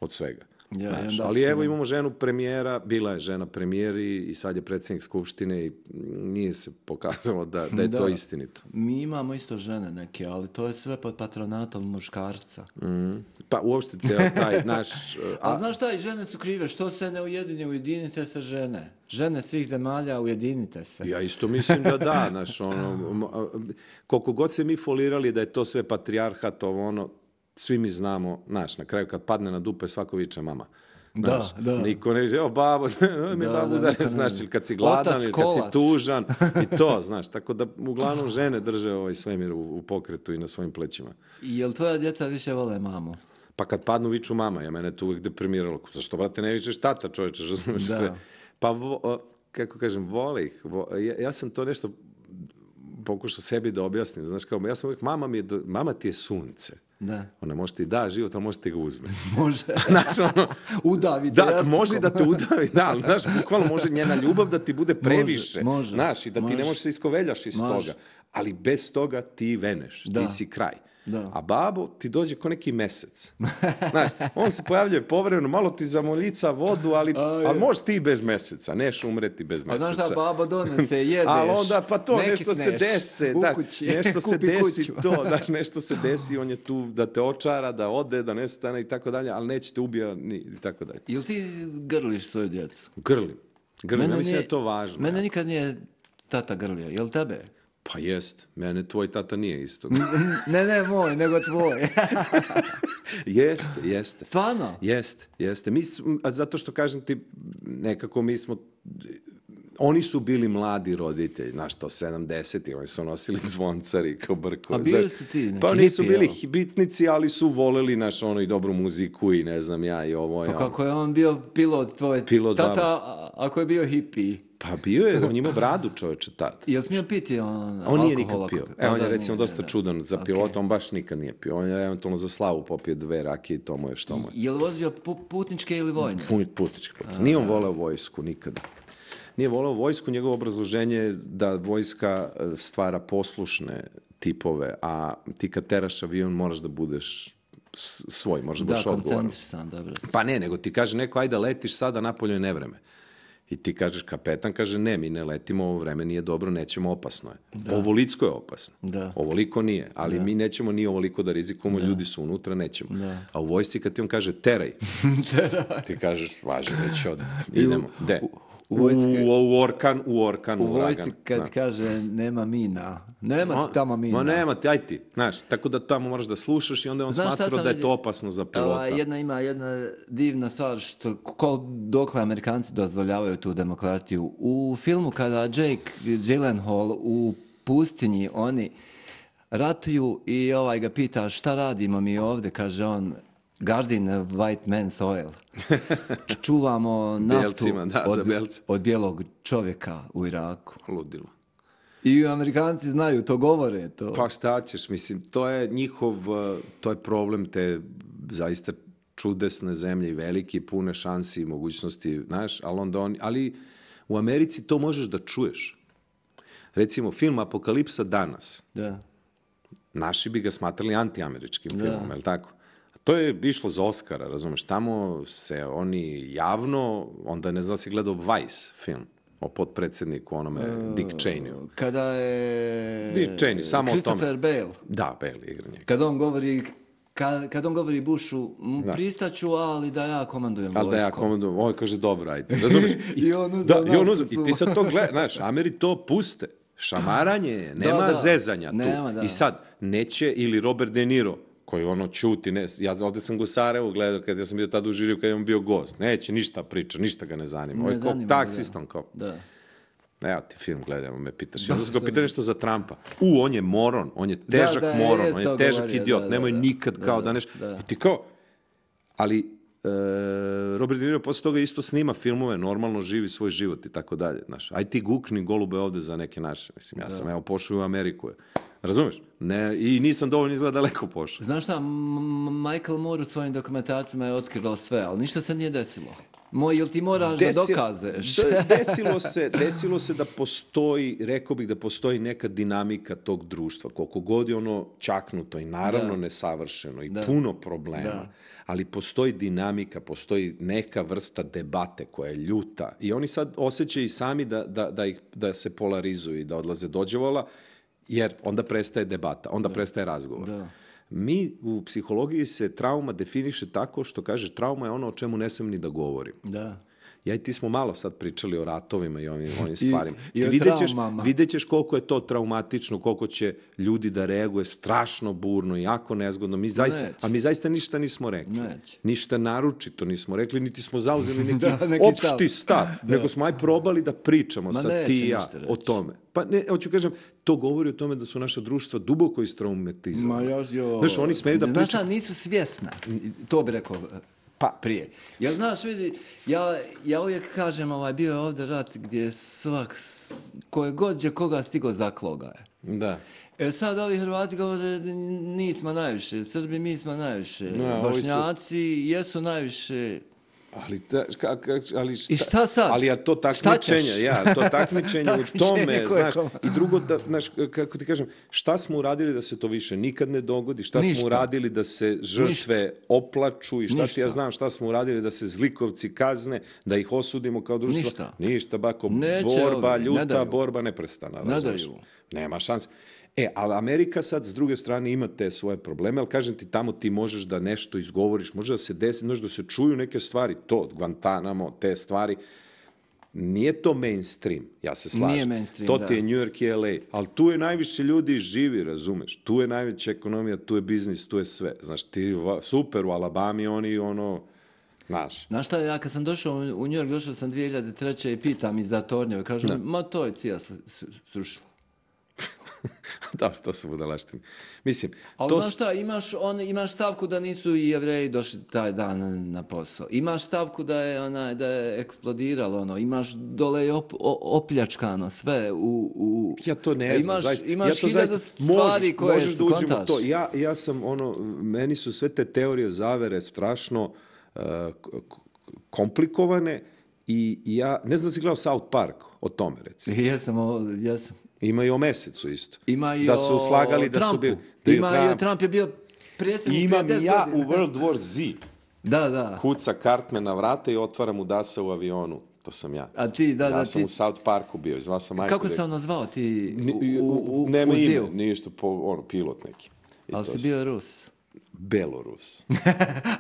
od svega. Ja, Znaš, i onda ali su- evo imamo ženu premijera, bila je žena premijer i, i sad je predsjednik skupštine i nije se pokazalo da, da je to Da. istinito. Mi imamo isto žene neke, ali to je sve pod patronatom muškarca. Mm. Pa uopšte cijel taj naš... A, znaš šta, i žene su krive, što se ne ujedinje, ujedinite se žene. Žene svih zemalja, ujedinite se. Ja isto mislim da da, znaš, ono, m- a- koliko god se mi folirali da je to sve patrijarhat, ovo ono, svi mi znamo, znaš, na kraju kad padne na dupe svako viče mama. Da, Znaš, da. Niko ne evo babo, mi Da, babu da, udare, niko ne znaš, zna. ili kad si gladan, Otac ili kad si kolac. tužan, i to, znaš, tako da uglavnom žene drže ovaj svemir u, u pokretu i na svojim plećima. I jel tvoja djeca više vole mamu? Pa kad padnu viču mama, ja mene to uvijek deprimiralo. Zašto, brate, ne vičeš tata, čovječe, razumiješ Da. sve. Pa, vo- o, kako kažem, vole ih. Vo- ja, ja sam to nešto pokušao sebi da objasnim. Znaš, kao, ja sam uvijek, mama, mi je do- mama ti je sunce. Da. Ona može ti da život, ali može ti ga uzme. Može. Znaš, ono, Udavi te da, jastukom. može da te udavi, da, ali, znaš, bukvalno može njena ljubav da ti bude previše. može, Znaš, i da ti ne može. možeš se iskoveljaš iz Može. toga. Ali bez toga ti veneš, Da. ti si kraj. Da. A babo ti dođe ko neki mesec. Znaš, on se pojavljuje povremeno, malo ti zamoljica vodu, ali, A, je. ali možeš ti bez meseca, neš umreti bez A meseca. znaš šta, baba donese, jedeš. Ali onda, pa to, ne nešto se kisneš desi, u da, kući, nešto se kupi desi, kuću. to, da, nešto se desi, on je tu da te očara, da ode, da nestane i tako dalje, ali neće te ubija ni, i tako dalje. Jel ti grliš svoju djecu? Grlim, grlim, ja mislim nije- da je to važno. Mene ja. nikad nije tata grlio, jel tebe? Pa jest, mene tvoj tata nije isto. Ne, ne moj, nego tvoj. Jeste, jeste. Stvarno? Jeste, jeste. Mi, smo- a zato što kažem ti, nekako mi smo, oni su bili mladi roditelji, znaš to, sedamdesetih, oni su nosili zvoncari kao brkove. A bili znaš. su ti neki Pa nisu hipi, bili jel? bitnici, ali su voleli naš ono i dobru muziku i ne znam ja i ovo. i Pa ono. kako je on bio pilot tvoj Pilot, tata, da. a- ako je bio hippie? Pa bio je, on ima bradu čovječe tad. Jel smio piti on On nije alkohol nikad ako- pio. Pa Evo, on da, je recimo nije, dosta da. čudan za Ok. pilota, on baš nikad nije pio. On je eventualno za slavu popio dve rakije i to mu je što mu je. Jel vozio pu- putničke ili vojne? Puni- Putnički put. Nije on voleo vojsku nikada. Nije voleo vojsku, njegovo obrazloženje je da vojska e, stvara poslušne tipove, a ti kad teraš avion moraš da budeš s- svoj, moraš da Da, budeš odgovoran. koncentrisan, dobro. Pa ne, nego ti kaže neko, ajde letiš sada, napolju je nevreme. I ti kažeš, kapetan kaže, ne, mi ne letimo, ovo vreme nije dobro, nećemo, opasno je. Ovolicko je opasno. Da. Ovoliko nije, ali mi nećemo ni ovoliko da rizikujemo, ljudi su unutra, nećemo. Da. A u vojsci kad ti on kaže, teraj, ti kažeš, važi, već od, I u- idemo. De? u- u vojski- U, u orkan, u orkan, U u vojsci uragan. kad Da. kaže nema mina, nema Ma- ti tamo mina. Ma nema ti, aj ti, znaš, tako da tamo moraš da slušaš i onda je on Znaš šta smatrao sam da je to vidio? opasno za pilota. Ova, jedna ima jedna divna stvar što ko, dokle Amerikanci dozvoljavaju tu demokratiju. U filmu kada Jake Gyllenhaal u pustinji oni ratuju i ovaj ga pita šta radimo mi ovdje, kaže on guarding a white man's oil. Č- Čuvamo naftu Bijelcima, da, za od, bijelce. od bijelog čovjeka u Iraku. Ludilo. I Amerikanci znaju, to govore. To. Pa šta ćeš, mislim, to je njihov, uh, to je problem te zaista čudesne zemlje i velike, pune šansi i mogućnosti, znaš, ali onda oni, ali u Americi to možeš da čuješ. Recimo, film Apokalipsa danas, Da. naši bi ga smatrali antiameričkim Da. filmom, je li tako? To je išlo za Oscara, razumeš, tamo se oni javno, onda ne znam da si gledao Vice film o potpredsjedniku onome Dick Cheneyu. Kada je Dick Cheney, samo o Christopher Bale, Da, Bale igra njega. kad on govori kad, kad on govori Bushu, "M, Da. pristaću, ali da ja komandujem Ali da ja vojskom." komandujem, ovaj kaže dobro, ajde. Razumiješ? I on uzeo da, i on naftu uzeo. I ti svu. sad to gledaš, znaš, Ameri to puste. Šamaranje je, nema Da, da. zezanja tu. Nema, da. I sad, neće, ili Robert De Niro, koji ono čuti, ne, ja ovdje sam go u Sarajevu gledao, kad ja sam bio tada u žiriju, kad je on bio gost. Neće ništa priča, ništa ga ne zanima. Ovo je Ne kao zanima ga, taksistom, kao. Da. Evo ti film gledamo, me pitaš. Da, Onda sam ga sam- pitao nešto za Trumpa. U, on je moron, on je težak da, moron, jest on to je težak govorio, idiot, da, da, nemoj da. nikad Da, kao da, da neš... da. I ti kao, ali e, Robert De Niro posle toga isto snima filmove, normalno živi svoj život i tako dalje. Znaš, aj ti gukni golube ovde za neke naše. Mislim, ja sam evo pošao u Ameriku. Razumeš? Ne, i nisam dovoljno izgleda daleko pošao. Znaš šta, M- Michael Moore u svojim dokumentarcima je otkrilo sve, ali ništa se nije desilo. Moj, jel ti moraš da Desi- dokazeš? D- desilo se, desilo se da postoji, rekao bih da postoji neka dinamika tog društva, koliko god je ono čaknuto i naravno Da. nesavršeno i Da. puno problema, Da. ali postoji dinamika, postoji neka vrsta debate koja je ljuta i oni sad osjećaju i sami da, da, da, ih, da se polarizuju i da odlaze dođevola, jer onda prestaje debata, onda prestaje razgovor. Da. Mi u psihologiji se trauma definiše tako što kaže trauma je ono o čemu ne smem ni da govorim. Da. Ja i ti smo malo sad pričali o ratovima i ovim, ovim stvarima. i Ti o vidjet ćeš, traumama. vidjet ćeš koliko je to traumatično, koliko će ljudi da reaguje strašno burno, jako nezgodno. Mi zaista, Neće. a mi zaista ništa nismo rekli. Neće. Ništa naročito nismo rekli, niti smo zauzeli neki, Da, neki opšti stav. stav. Nego smo aj probali da pričamo Ma sad neće ti i ja ništa reći. o tome. Pa ne, hoću kažem, to govori o tome da su naša društva duboko istraumatizovana. Ma još, jo. Znaš, oni smeju da Znaš pričaju. šta, nisu svjesna. To bi rekao Pa, prije. Ja znaš, vidi, ja, ja uvijek kažem, ovaj, bio je ovdje rat gdje svak, s- koje god je koga stigo zakloga je. da. E sad ovi Hrvati govore, nismo najviše, Srbi mi smo najviše, Ne, ovi su- Bošnjaci jesu najviše. Ali, ta, ka, ka, ali šta, I šta sad? Ali je to Šta ćeš? takmičenje, ja, to takmičenje u Takmičenje tome, koje znaš, koma. i drugo, da, znaš, kako ti kažem, šta smo uradili da se to više nikad ne dogodi, šta Ništa. smo uradili da se žrtve oplaču i šta ti Ništa. ja znam, šta smo uradili da se zlikovci kazne, da ih osudimo kao društvo. Ništa. Ništa, bako, Neće borba, ovi, ne ljuta, daju. borba neprestana, Ne razumeš? daju. Nema šanse. E, ali Amerika sad s druge strane ima te svoje probleme, ali kažem ti, tamo ti možeš da nešto izgovoriš, može da se desi, može da se čuju neke stvari, to, Guantanamo, te stvari. Nije to mainstream, ja se slažem. Nije mainstream, to da. ti je New York i L A, ali tu je najviše ljudi živi, razumeš? Tu je najveća ekonomija, tu je biznis, tu je sve. Znaš, ti va- super u Alabami, oni ono, znaš. Znaš šta, ja kad sam došao u New York, došao sam dvije hiljade treće i pitam iz Tornjeva, kažu, ma to je cija s- s- srušila. Dobro, to su budalaštine. Mislim, Ali to znaš šta, imaš, on, imaš stavku da nisu i Jevreji došli taj dan na, na posao. Imaš stavku da je, onaj, da je eksplodiralo, ono. Imaš dole i op, o- opljačkano sve u... u... Ja to ne E, znam, imaš, zaista. Imaš ja to hiljadu zaista, stvari možeš, koje možeš su, da uđemo u kontaš. to. Ja, ja sam, ono, meni su sve te teorije zavere strašno uh, k- k- komplikovane i ja, ne znam da si gledao South Park o tome, recimo. Jesam, ovo, jesam. Ima i o mesecu isto. Ima i da o su slagali da su Trumpu. bili... da je Ima i o Trump je bio predsjednik Imam prije i deset ja u godina. World War Z. Da, da. Kuca Cartman na vrata i otvaram udasa u avionu. To sam ja. A ti, da, ja da, sam ti- u South Parku bio, izvao sam majku. Kako da- se ono zvao ti Ni- u, u, u, Nema u ime, Ziju? ništa, po, ono, pilot neki. I Ali to si sam- bio Rus. Belorus.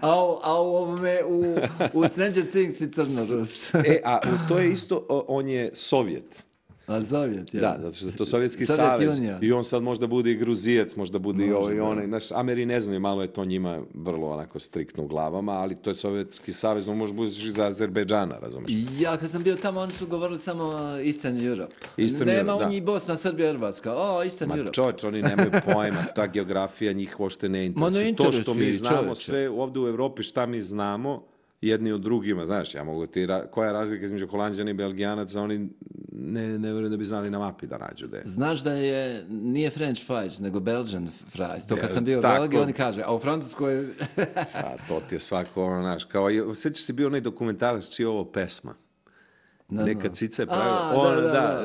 A, u- a u ovome, u, u Stranger Things si crno Rus. E, a u- to je isto, o, on je Sovjet. A Sovjet, je. Da, zato što je to Sovjetski Sovjet savez. Unija. I on sad možda bude i Gruzijac, možda bude i Može, ovaj i da. onaj. Znaš, Ameri ne znaju, malo je to njima vrlo onako striktno u glavama, ali to je Sovjetski savez, on može biti i za Azerbejdžana, razumeš? Ja kad sam bio tamo, oni su govorili samo uh, Eastern Europe. Eastern Nema Europe, u da. njih Bosna, Srbija, Hrvatska. O, Eastern Ma Europe. čovječ, oni nemaju pojma, ta geografija njih uopšte ne interesuje. ne To što mi interesuje, znamo čovječe. sve ovdje u Evropi, šta mi znamo, jedni od drugima, znaš, ja mogu ti, ra- koja je razlika između Holanđana i Belgijanaca, oni ne, ne vjerujem da bi znali na mapi da nađu da je. Znaš da je, nije French fries, nego Belgian fries. To kad Ja, sam bio u tako. Belgiji, oni kaže, a u Francuskoj... A to ti je svako, ono, znaš, kao, i- sjećaš se bio onaj dokumentarac čija je ovo pesma? Da, Neka da. cica je A, pravila, da, ono, da, da,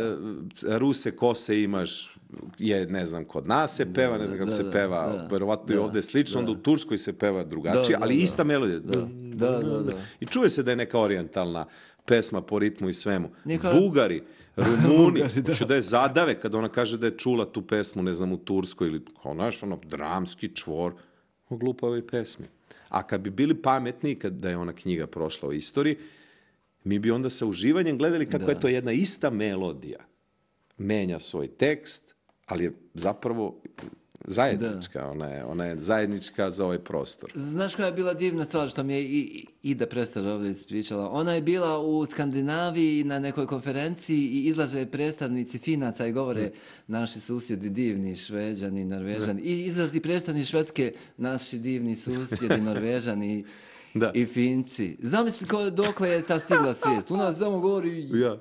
da. e, Ruse kose imaš, je, ne znam, kod nas se peva, ne znam kako da, se da, peva, da, verovatno i da, ovdje slično, onda da. u Turskoj se peva drugačije, Da, da, ali da. ista melodija. Da, da, da, da. I čuje se da je neka orijentalna pesma po ritmu i svemu. Nije kao- Bugari, Rumuni, Bugari, da. hoću da je zadave kad ona kaže da je čula tu pesmu, ne znam, u Turskoj ili, kao, znaš, ono, dramski čvor o glupavoj pesmi. A kad bi bili pametni, kad da je ona knjiga prošla u istoriji, mi bi onda sa uživanjem gledali kako Da. je to jedna ista melodija. menja svoj tekst, ali je zapravo zajednička, ona je, ona je zajednička za ovaj prostor. Znaš koja je bila divna stvar što mi je i, Ida Prestar ovdje ispričala? Ona je bila u Skandinaviji na nekoj konferenciji i izlaže predstavnici Finaca i govore naši susjedi divni, Šveđani, Norvežani. I izlazi predstavnik Švedske, naši divni susjedi, Norvežani Da. i Finci. Zamisli ko, dokle je ta stigla svijest. U nas samo govori... Ja.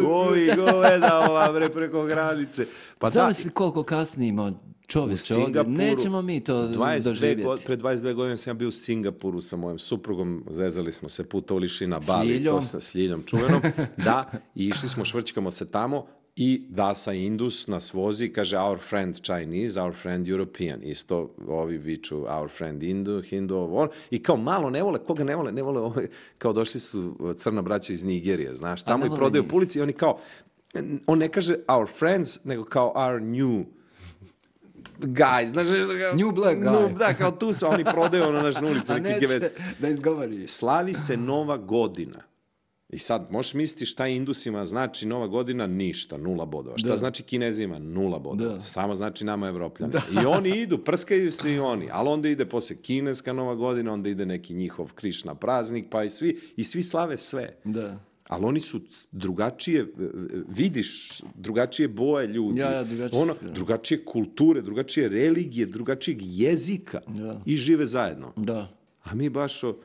Ovi goveda ova bre preko granice. Pa Zamisli da, koliko kasnimo čovječe u ovdje. Singapuru, Nećemo mi to dvadeset dve doživjeti. god, pred dvadeset dve godine sam ja bio u Singapuru sa mojom suprugom, zezali smo se, putovali šli na Bali, Ljiljom. to sa, s Ljiljom čuvenom, da, i išli smo, švrćkamo se tamo i Dasa Indus nas vozi, kaže our friend Chinese, our friend European, isto ovi viču our friend Hindu, Hindu, ovo, i kao malo ne vole, koga ne vole, ne vole, ovo, kao došli su crna braća iz Nigerije, znaš, A tamo ne i vole prodaju njih. po ulici i oni kao, on ne kaže our friends, nego kao our new guys, znaš, kao, New black guy. No, da, kao tu su, a oni prodaju ono naš na ulici. A neki nećete gevet. da izgovori. Slavi se Nova godina. I sad, možeš misliti šta Indusima znači Nova godina? Ništa, nula bodova. Šta Da. znači Kinezima? Nula bodova. Da. Samo znači nama Evropljanima. I oni idu, prskaju se i oni, ali onda ide posle kineska Nova godina, onda ide neki njihov Krišna praznik, pa i svi, i svi slave sve. Da. Ali oni su drugačije, vidiš, drugačije boje ljudi, Ja, ja, drugačije ono, sve. drugačije kulture, drugačije religije, drugačijeg jezika Da. i žive zajedno. Da. A mi baš, o,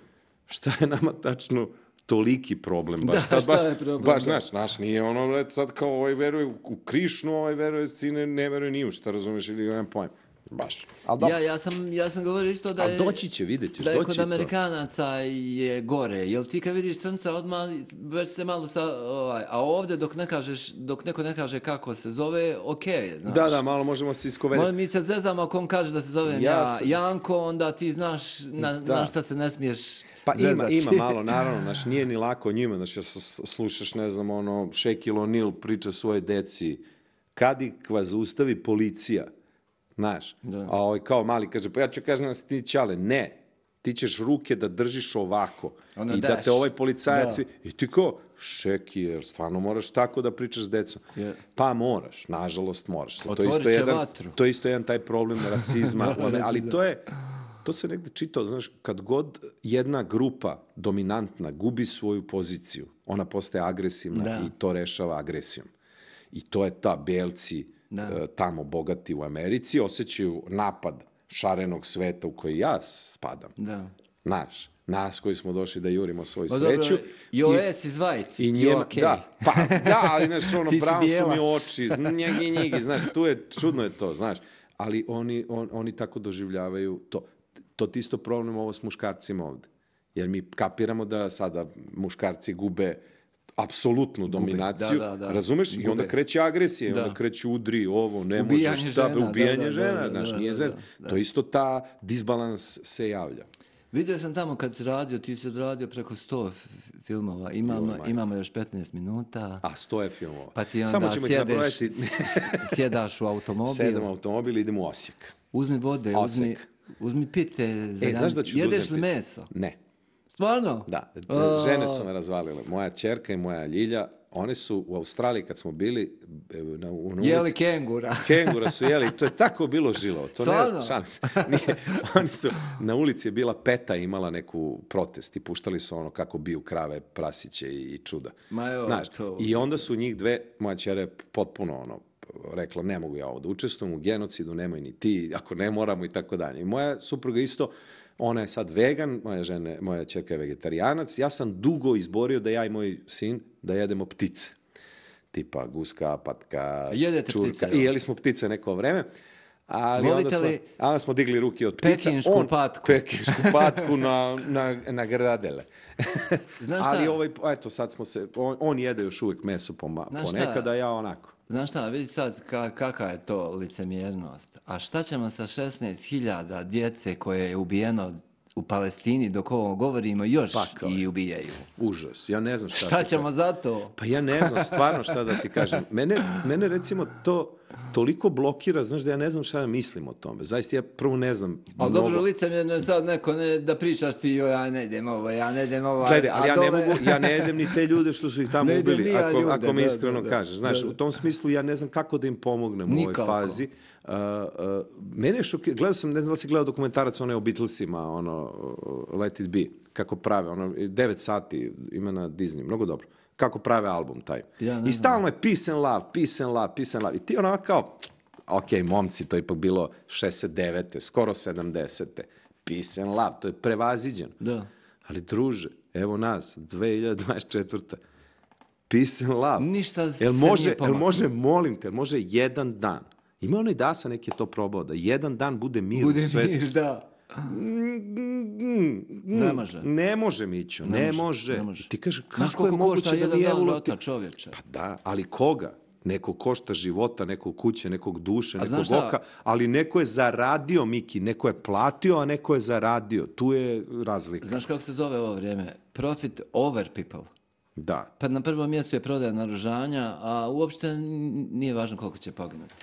šta je nama tačno toliki problem? Baš, Da, sad, šta baš, je problem, baš, da. znaš, naš nije ono, red, sad kao ovaj veruje u- u Krišnu, ovaj veruje sine, ne veruje ni u šta, razumeš, ili nemam pojem. Baš. Ali Ja, ja, sam, ja sam govorio isto da Ali je... doći će, vidjet ćeš, da je doći kod to. Amerikanaca je gore. Jel ti kad vidiš crnca odmah već se malo sa... Ovaj, a ovdje dok ne kažeš, dok neko ne kaže kako se zove, okej, znaš. Da, da, malo možemo se iskovedati. Mo- Mi se zezamo ako on kaže da se zovem Ja ja, sam- Janko, onda ti znaš na, Da. na šta se ne smiješ Pa ima, zezati. ima malo, naravno, znaš, nije ni lako njima, znaš, ja s- slušaš, ne znam, ono, Shaquille O'Neal priča svoje deci, kad ih vas zaustavi policija, znaš, Da. a ovaj kao mali kaže, pa ja ću kažem da si ti ćale, ne, ti ćeš ruke da držiš ovako Ono i da daš. te ovaj policajac, Da. vi- i ti kao, Šeki, jer stvarno moraš tako da pričaš s decom. Je. Pa moraš, nažalost moraš. Sad, to, je Otvorit isto će jedan, vatru. to je isto jedan taj problem rasizma, Da, one- ali rasizam. to je, to se negde čitao, znaš, kad god jedna grupa dominantna gubi svoju poziciju, ona postaje agresivna Da. i to rešava agresijom. I to je ta belci Da. e, tamo bogati u Americi, osjećaju napad šarenog sveta u koji ja spadam. Da. Znaš, nas koji smo došli da jurimo svoju Pa sreću. dobro, your ass is white. I you're njema, okay. da, pa da, ali znaš, ono, Ti si brown su bijela. mi oči, njegi, njegi, znaš, tu je, čudno je to, znaš, ali oni, on, oni tako doživljavaju to. To ti isto problem ovo s muškarcima ovde. Jer mi kapiramo da sada muškarci gube apsolutnu dominaciju, da, da, da. razumeš? I onda Gube. kreće agresija, i Da. onda kreće udri, ovo, ne Ubijanje možeš, šta, žena, ubijanje da, da, žena, da, znaš, da, nije da, zez. da. To isto ta disbalans se javlja. Vidio sam tamo kad si radio, ti si odradio preko sto f- filmova. Imamo, Joj, imamo još petnaest minuta. A sto je filmova. Pa ti onda Samo ćemo ih sjedeš, nabrojati. sjedaš u automobil. Sedam automobil i idemo u Osijek. Uzmi vode, uzmi, Osek. uzmi pite. E, znaš da ću da Jedeš uzem li pit- meso? Ne. Stvarno? Da, A. žene su me razvalile. Moja ćerka i moja Ljilja, one su u Australiji kad smo bili e, na, u na Jeli ulici, kengura. kengura su jeli, to je tako bilo žilo. To Stvarno? ne, šalim se. Nije, oni su, na ulici je bila Peta, imala neku protest i puštali su ono kako biju krave, prasiće i, i čuda. Ma evo, Znaš, to- i onda su njih dve, moja ćera je potpuno ono, rekla ne mogu ja ovo da učestvujem u genocidu, nemoj ni ti, ako ne moramo i tako dalje. I moja supruga isto, ona je sad vegan, moja žena, moja ćerka je vegetarijanac, ja sam dugo izborio da ja i moj sin da jedemo ptice. Tipa guska, patka, Jedete čurka. ptice, I evo. jeli smo ptice neko vreme. Ali Volite onda smo, li onda smo digli ruke od ptica. pekinšku patku? Pekinšku patku na, na, na gradele. Znaš šta? Ali ovaj, eto, sad smo se, on, on jede još uvijek meso poma, Znaš šta? ponekada, ja onako. Znaš šta, vidi sad ka, kakva je to licemjernost. A šta ćemo sa šesnaest hiljada djece koje je ubijeno u Palestini dok ovo govorimo još Pakao i je. ubijaju? Užas, ja ne znam šta. Šta ti ćemo za to? Pa ja ne znam stvarno šta da ti kažem. Mene, mene recimo to, toliko blokira, znaš, da ja ne znam šta da mislim o tome. Zaista ja prvo ne znam. Ali mnogo... dobro, licemjerno je sad neko ne, da pričaš ti, joj, ja ne idem ovo, ja ne idem ovo. Gledaj, ali ja dole... ne mogu, ja ne idem ni te ljude što su ih tamo Ne idem ubili, ni ja ako, ljude, ako mi da, iskreno da, da. kažeš. Znaš, Da, da. u tom smislu ja ne znam kako da im pomognem u ovoj Nikako. fazi. Uh, uh, mene je šokirano, gledao sam, ne znam da li si gledao dokumentarac onaj o Beatlesima, ono, uh, Let It Be, kako prave, ono, devet sati ima na Disney, mnogo dobro. Kako prave album taj. Ja ne I znam. stalno je peace and love, peace and love, peace and love. I ti onako kao, ok, momci, to je ipak bilo šezdeset devete skoro sedamdesete Peace and love, to je prevaziđeno. Da. Ali druže, evo nas, dve hiljade dvadeset četvrte Peace and love. Ništa se jel nije može, jel pomaklo. može, molim te, jel može jedan dan? Ima onaj Dasa neki je to probao, da jedan dan bude mir Bude u svetu. mir, da. Ne može. Ne može, Mićo, ne, Ne može. može, ne može. Ti kaže, Znaš kako je koliko košta moguće da jedan mi dan evo života, čovječe? Pa da, ali koga? Neko košta života, nekog kuće, nekog duše, A nekog znaš šta? oka, ali neko je zaradio, Miki, neko je platio, a neko je zaradio. Tu je razlika. Znaš kako se zove ovo vrijeme? Profit over people. Da. Pa na prvom mjestu je prodaja naoružanja, a uopšte n- nije važno koliko će poginuti.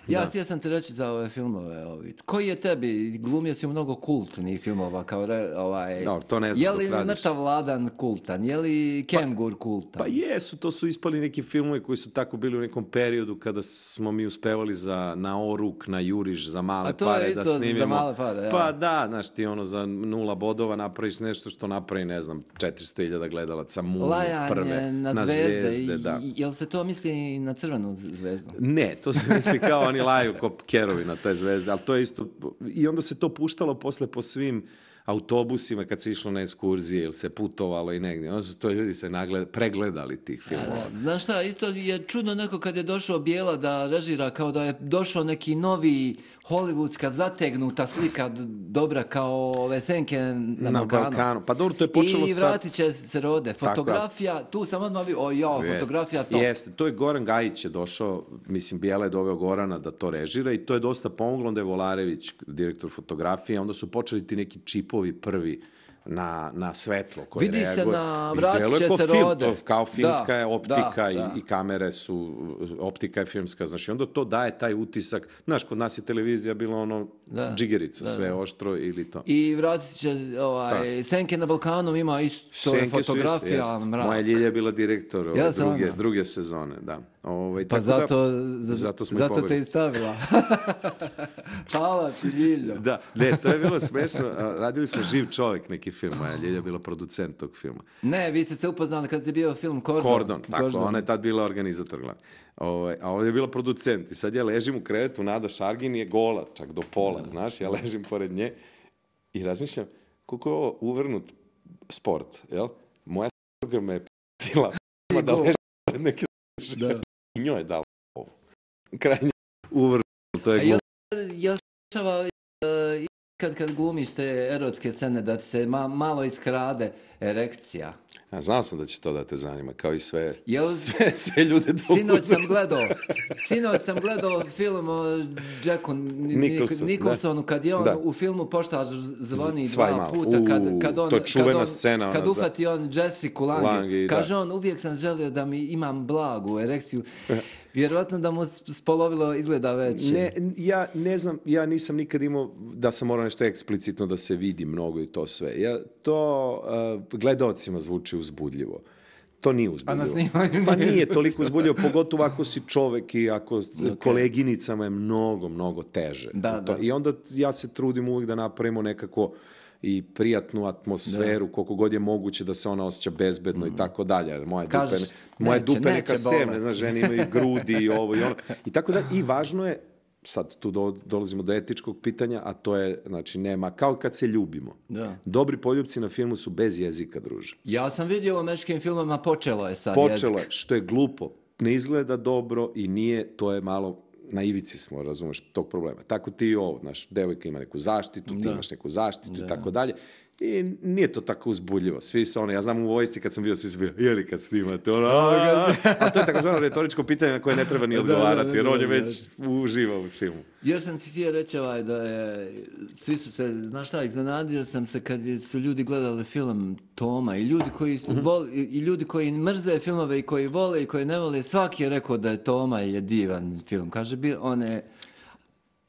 Ja Da. htio sam ti reći za ove filmove. Ovi. Koji je tebi? Glumio si u mnogo kultnih filmova. Kao re, ovaj, Dobro, to ne znam je dok li radiš. Mrtav Vladan kultan? Je li Kengur kultan? Pa jesu, to su ispali neki filmovi koji su tako bili u nekom periodu kada smo mi uspevali za na oruk, na juriš, za male A to je pare isto da za snimimo. male pare, ja. Pa da, znaš ti ono za nula bodova napraviš nešto što napravi, ne znam, četiristo hiljada gledalaca, Munu, Lajanje prve, na, zvezde. zvezde, da. I- Jel se to misli i na crvenu zvezdu? Ne, to se misli kao oni laju ko kerovi na te zvezde, ali to je isto, i onda se to puštalo posle po svim autobusima kad se išlo na ekskurzije ili se putovalo i negdje. Onda su to ljudi se nagled, pregledali tih filmova. Znaš šta, isto je čudno neko kad je došao Bijela da režira kao da je došao neki novi hollywoodska zategnuta slika d- dobra kao ove senke na, Na Balkanu. Balkanu. Pa dobro, to je počelo I sa... vratit će se rode. Fotografija, tu sam odmah vidio, o jao, Jeste. fotografija top. Jeste, to je Goran Gajić je došao, mislim, Bijela je doveo Gorana da to režira i to je dosta pomoglo, onda je Volarević, direktor fotografije, onda su počeli ti neki čipovi prvi na, na svetlo koje Vidi se reaguje. na I vratit deluje će ko se film, rode. to kao filmska Da, je optika da, i, da. i kamere su, optika je filmska, znaš, i onda to daje taj utisak, znaš, kod nas je televizija bila ono Da, džigerica, da, sve da. oštro ili to. I vratit će, ovaj, senke na Balkanu ima isto Senke su isto, fotografija, jest. mrak. Moja Ljilja je bila direktor ove Ja sam druge, ona. druge sezone, da. Ovaj, Pa tako da- zato, za- zato smo i zato te pobegli. i stavila. Hvala ti, Ljiljo. Da, ne, to je bilo smešno. A, radili smo Živ čovjek, neki film, moja Ljilja je bila producent tog filma. Ne, vi ste se upoznali kad se bio film Kordon. Kordon, tako, ona je tad bila organizator glavni. Ovaj, a ovdje je bila producent. I sad ja ležim u krevetu, Nada Šargin je gola, čak do pola, znaš, ja ležim pored nje i razmišljam, koliko je ovo uvrnut sport, jel? Moja s***ga me je p***tila da ležim pored neke Da. i njoj je dala ovo. Krajnje uvrnut, to A je jel, glupo. jel se dešava uh, kad, kad glumiš te erotske scene da ti se ma, malo iskrade erekcija? A znao sam da će to da te zanima, kao i sve, Jel- sve, sve ljude do Sinoć sam uzrasta. gledao, sinoć sam gledao film o Jacku Ni- Nicholson, Nicholsonu kad je on Da. u filmu Poštar zvoni Svaj dva malo. puta kad, U, kad on, to je čuvena kad on, scena, kad ona za- ufati on Jessica Lange, Lange, da. kaže on uvijek sam želio da mi imam blagu erekciju. Vjerovatno da mu s- spolovilo izgleda već. Ne, ja ne znam, ja nisam nikad imao da sam morao nešto eksplicitno da se vidi mnogo i to sve. Ja, to uh, gledaocima zvuči uzbudljivo. To nije uzbudljivo. A na snimanju Pa nije. nije toliko uzbudljivo, pogotovo ako si čovek i ako okay. koleginicama je mnogo, mnogo teže. Da, to. da. I onda ja se trudim uvijek da napravimo nekako i prijatnu atmosferu, koliko god je moguće da se ona osjeća bezbedno i tako dalje. Jer moje Kažeš, dupe, ne, moje neće, dupe neće neka sevne, bolet. znaš, žene imaju grudi i ovo i ono. I tako da, i važno je, sad tu do, dolazimo do etičkog pitanja, a to je, znači, nema, kao kad se ljubimo. Da. Dobri poljupci na filmu su bez jezika, druže. Ja sam vidio u američkim filmama, počelo je sad Počelo jezik. je, što je glupo, ne izgleda dobro i nije, to je malo, na ivici smo, razumeš, tog problema. Tako ti i ovo, znaš, devojka ima neku zaštitu, ti Da. imaš neku zaštitu Da. i tako dalje. I nije to tako uzbudljivo. Svi su ono, ja znam u vojsci kad sam bio, svi su bili, jeli kad snimate, ono, a to je takozvano retoričko pitanje na koje ne treba ni odgovarati, jer on je već uživao u filmu. Još sam ti htio reći ovaj, da je, svi su se, znaš šta, iznenadio sam se kad su ljudi gledali film Toma i ljudi koji su voli, i ljudi koji mrze filmove i koji vole i koji ne vole, svaki je rekao da je Toma je divan film. Kaže, bi, on je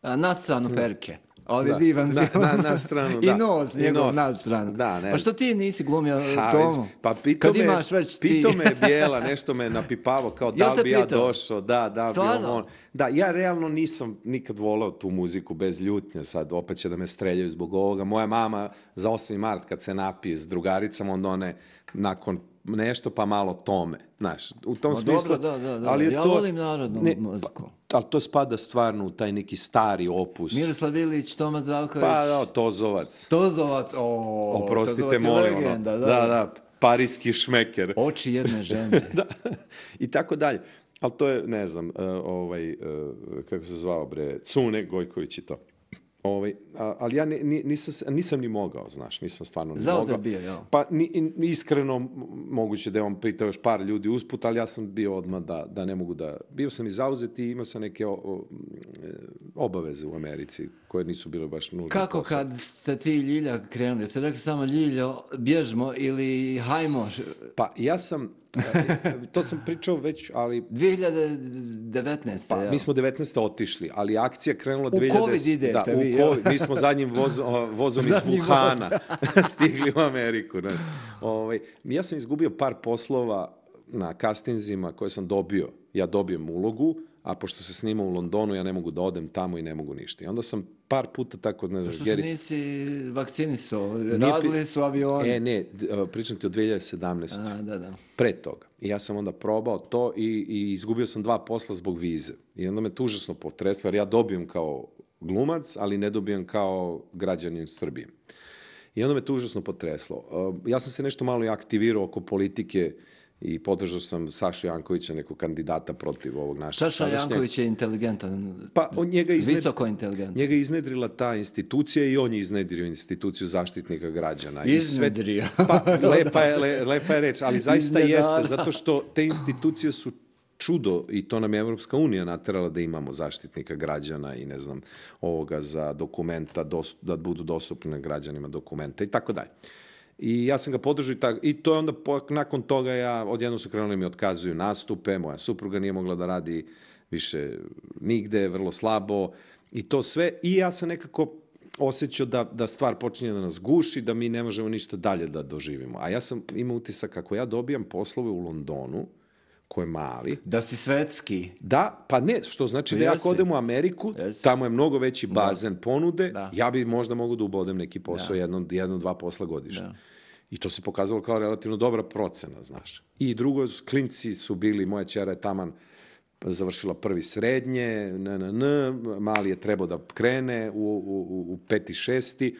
a, na stranu perke. Ali Da, divan na, film. na, na stranu, da. I nos, I njegov nos. na stranu. Da, ne. Pa što ti nisi glumio Ha, Tomu? već, pa pitao Kad me, imaš već ti... pitao me je Bijela, nešto me napipavo, kao da Jel li te bi ja pitao? došao, da, da, bi Stvarno? on. Da, ja realno nisam nikad volao tu muziku bez ljutnje, sad opet će da me streljaju zbog ovoga. Moja mama za osmi mart kad se napije s drugaricama, onda one nakon nešto pa malo Tome, znaš, u tom Ma smislu. dobro, da, da, da. Ali je Ja to, volim narodnu ne, muziku. Pa, ali to spada stvarno u taj neki stari opus. Miroslav Ilić, Toma Zdravković, Pa da, Tozovac. Tozovac, o, Oprostite, Tozovac je molim, legenda, ono. da, Da, da, parijski šmeker. Oči jedne žene. Da, i tako dalje. Ali to je, ne znam, uh, ovaj, uh, kako se zvao, bre, Cune Gojković i to. Ovaj, a, ali ja ni, ni, nisam, nisam ni mogao, znaš, nisam stvarno ni Zauzet mogao. bio, jel? Pa ni, ni iskreno, m- moguće da je on pitao još par ljudi usput, ali ja sam bio odmah da, da ne mogu da... Bio sam i zauzet i imao sam neke o, o, e, obaveze u Americi koje nisu bile baš nužne. Kako posao. kad ste ti i Ljilja krenuli? Ste rekli samo Ljiljo, bježmo ili hajmo? Pa ja sam, e, to sam pričao već, ali dvije hiljade devetnaeste. Pa, jel? mi smo devetnaeste otišli, ali akcija krenula U dvije hiljade... Covid idete da, u vi, jel? Covid. Mi smo zadnjim voz, o, vozom iz Zadnji Wuhana stigli u Ameriku. Ne. Ovaj, ja sam izgubio par poslova na castingzima koje sam dobio. Ja dobijem ulogu, a pošto se snima u Londonu, ja ne mogu da odem tamo i ne mogu ništa. I onda sam par puta tako, ne znam, Što se Geri... nisi vakcinisao? Nije pri- Radili su avioni. E, ne, d- pričam ti o dvije hiljade sedamnaeste. A, da, da. Pre toga. I ja sam onda probao to i, i izgubio sam dva posla zbog vize. I onda me to užasno potreslo, jer ja dobijem kao glumac, ali ne dobijem kao građanin Srbije. I onda me to užasno potreslo. Uh, ja sam se nešto malo i aktivirao oko politike i podržao sam Sašu Jankovića, nekog kandidata protiv ovog našeg. Saša sadašnjeg. Janković je inteligentan. Pa on njega izned... Visoko inteligentan. Njega je iznedrila ta institucija i on je iznedrio instituciju zaštitnika građana. I sve- Iznedrio. Pa, lepa je, le, lepa je reč, ali zaista Iznenada. jeste, zato što te institucije su čudo i to nam je Evropska unija naterala da imamo zaštitnika građana i ne znam, ovoga za dokumenta, dos, da budu dostupne građanima dokumenta i tako dalje. I ja sam ga podržao i, tak, i to je onda po, nakon toga ja, odjedno su krenuli mi otkazuju nastupe, moja supruga nije mogla da radi više nigde, vrlo slabo i to sve. I ja sam nekako osjećao da, da stvar počinje da nas guši, da mi ne možemo ništa dalje da doživimo. A ja sam imao utisak kako ja dobijam poslove u Londonu, ko je mali, Da si svetski. da, pa ne, što znači Pa da ja jesi. ako odem u Ameriku, Jesi. tamo je mnogo veći bazen ponude, Da. ja bi možda mogu da ubodem neki posao, Da. jedno, jedno, dva posla godišnje. Da. I to se pokazalo kao relativno dobra procena, znaš. I drugo, klinci su bili, moja ćera je taman završila prvi srednje, n, n, n, mali je trebao da krene u, u, u peti, šesti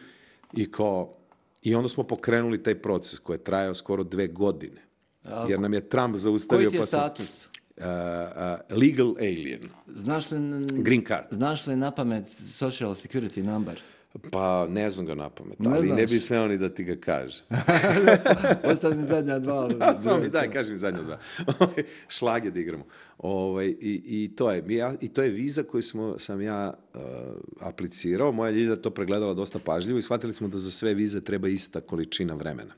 i kao, i onda smo pokrenuli taj proces koji je trajao skoro dve godine. Jer nam je Trump zaustavio... Koji ti je pa smo- status? Uh, uh, legal alien. Znaš li, Green card. Znaš li na pamet social security number? Pa ne znam ga na pamet, Ne ali ne znaš. bi smeo ni da ti ga kaže. Ostali mi zadnja dva. Da, samo mi daj, kaži mi zadnja dva. Šlage da igramo. Ovaj, i, i, to je, ja, I to je viza koju smo, sam ja uh, aplicirao. Moja Ljilja to pregledala dosta pažljivo i shvatili smo da za sve vize treba ista količina vremena.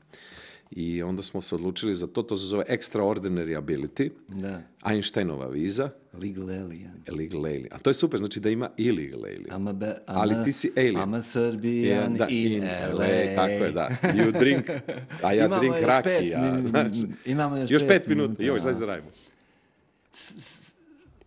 I onda smo se odlučili za to, to se zove extraordinary ability, Da. Einsteinova viza, Legal alien. legal alien. A to je super, znači da ima illegal alien. I'm a be, I'm Ali a- ti si alien. I'm a Serbian da, in, L A. Tako je, da. You drink, a ja Imamo drink još raki. pet a, min- znaš, imamo još još pet pet minuta. minuta, Joj, da. sad radimo.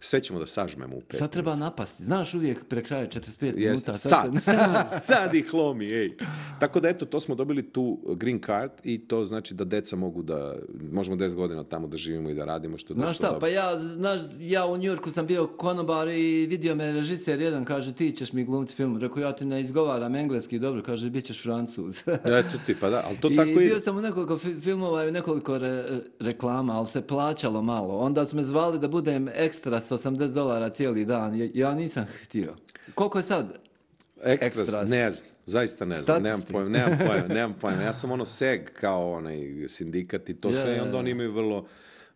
Sve ćemo da sažmemo u pet. Sad treba napasti. Znaš, uvijek pre kraja četrdeset pet Jeste, minuta. sad, se- sad, sad ih lomi, ej. Tako da, eto, to smo dobili tu green card i to znači da deca mogu da, možemo deset godina tamo da živimo i da radimo, što je Znaš dosta šta, dobro. pa ja, znaš, ja u Njujorku sam bio konobar i vidio me režiser jedan, kaže, ti ćeš mi glumiti film. Rekao, ja ti ne izgovaram engleski, dobro, kaže, bit ćeš Francuz. Eto ti, pa da, ali to I tako bio ide. sam u nekoliko fi- filmova i u nekoliko re- reklama, ali se plaćalo malo. Onda su me zvali da budem ekstra s osamdeset dolara cijeli dan. Ja, ja nisam htio. Koliko je sad? Ekstras, Ekstras. ne znam, zaista ne znam, nemam Statisti. pojma, nemam pojma, nemam pojma. Ja sam ono seg kao onaj sindikat i to Je, sve i je, onda je. oni imaju vrlo,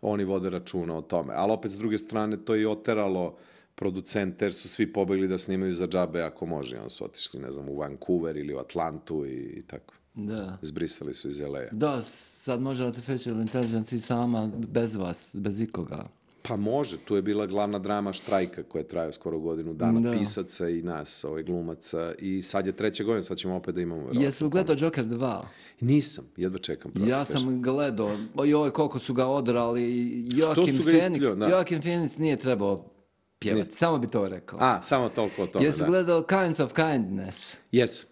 oni vode računa o tome. Ali opet s druge strane to je i oteralo producente jer su svi pobegli da snimaju za džabe ako može. Oni su otišli, ne znam, u Vancouver ili u Atlantu i, i tako. Da. Zbrisali su iz L A. Da, sad može artificial intelligence i sama bez vas, bez ikoga. Pa može, tu je bila glavna drama štrajka koja je trajao skoro godinu dana, Da. pisaca i nas, ovaj, glumaca i sad je treća godina, sad ćemo opet da imamo verovatno. Jesi li gledao Joker dva? Nisam, jedva čekam. pravo Ja ti kažem. sam gledao, joj koliko su ga odrali, Joakim su ga Phoenix, isplio, da. Joakim Phoenix nije trebao pjevati, samo bi to rekao. A, samo toliko o tome, Jesi da. gledao Kinds of Kindness? Jes.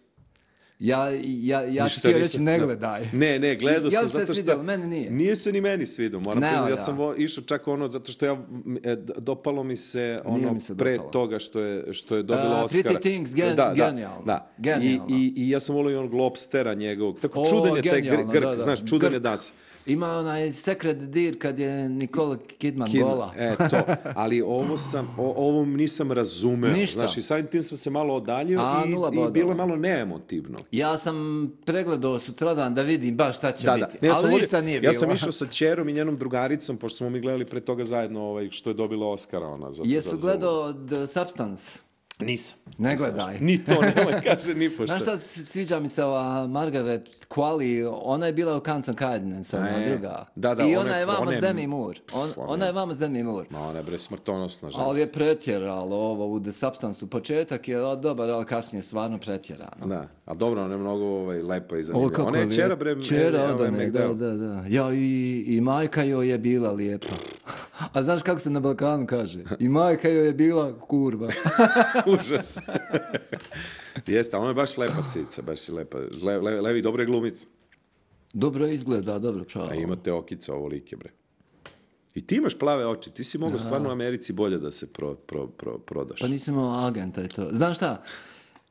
Ja, ja, ja ti Ništa htio nisam- reći ne da. gledaj. Ne, ne, gledao Jel sam se zato što... svidjelo? Meni nije. Nije se ni meni svidio, moram Ne, priznati. Ja da. sam vo- išao čak ono, zato što ja, m, e, d- dopalo mi se ono mi se pre dopalo. toga što je, što je dobila A, Oscara. Pretty Things, gen- da, da, genijalno. Da. Genijalno. I, i, I ja sam volio i onog Lobstera njegovog. Tako O, čudan je taj gr, genijalno, grk, da, da. znaš, čudan je Grk. das. Ima onaj Secret Deer kad je Nicole Kidman Kid- gola. E, to. Ali ovo sam, o, ovo nisam razumeo. Ništa. Znaš, i samim tim sam se malo odaljio A, i, nula i bodova. bilo je malo neemotivno. Ja sam pregledao sutradan da vidim baš šta će Da, da. biti. Ne, ja sam ali volio- ništa nije ja bilo. sam išao sa ćerom i njenom drugaricom, pošto smo mi gledali pre toga zajedno ovaj, što je dobila Oscara ona. Za, Jesu za, za- gledao The Substance? Nisam. Ne Nisam gledaj. još. Ni to, nemoj kaže, ni pošto. Znaš šta, s- sviđa mi se ova Margaret Qualley, ona je bila u Kinds of Kindness, ona E, druga. da, da, I ona ona je- je vama ona s je- Demi Moore. On, ona ona je- je vama s Demi Moore. Ma ona je bre smrtonosna ženska. Ali je pretjeralo ovo u The Substance. Početak je o, dobar, ali kasnije stvarno pretjerano. Da, a dobro, ona je mnogo ovaj, lepa i O, zanimljiva. kako Ona je lijep- čera bre... Čera e, od ovaj one, da, McDowell. da, da. Ja, i, i majka joj je bila lijepa. A znaš kako se na Balkanu kaže? I majka joj je bila kurva. Užas. Jeste, a ona je baš lepa cica, baš je lepa. Le, le, levi, dobre glumice. Dobro izgleda, dobro pravo. A imate okica ovolike, bre. I ti imaš plave oči, ti si mogao stvarno u Americi bolje da se pro, pro, pro, prodaš. Pa nisam imao agenta i to. Znaš šta?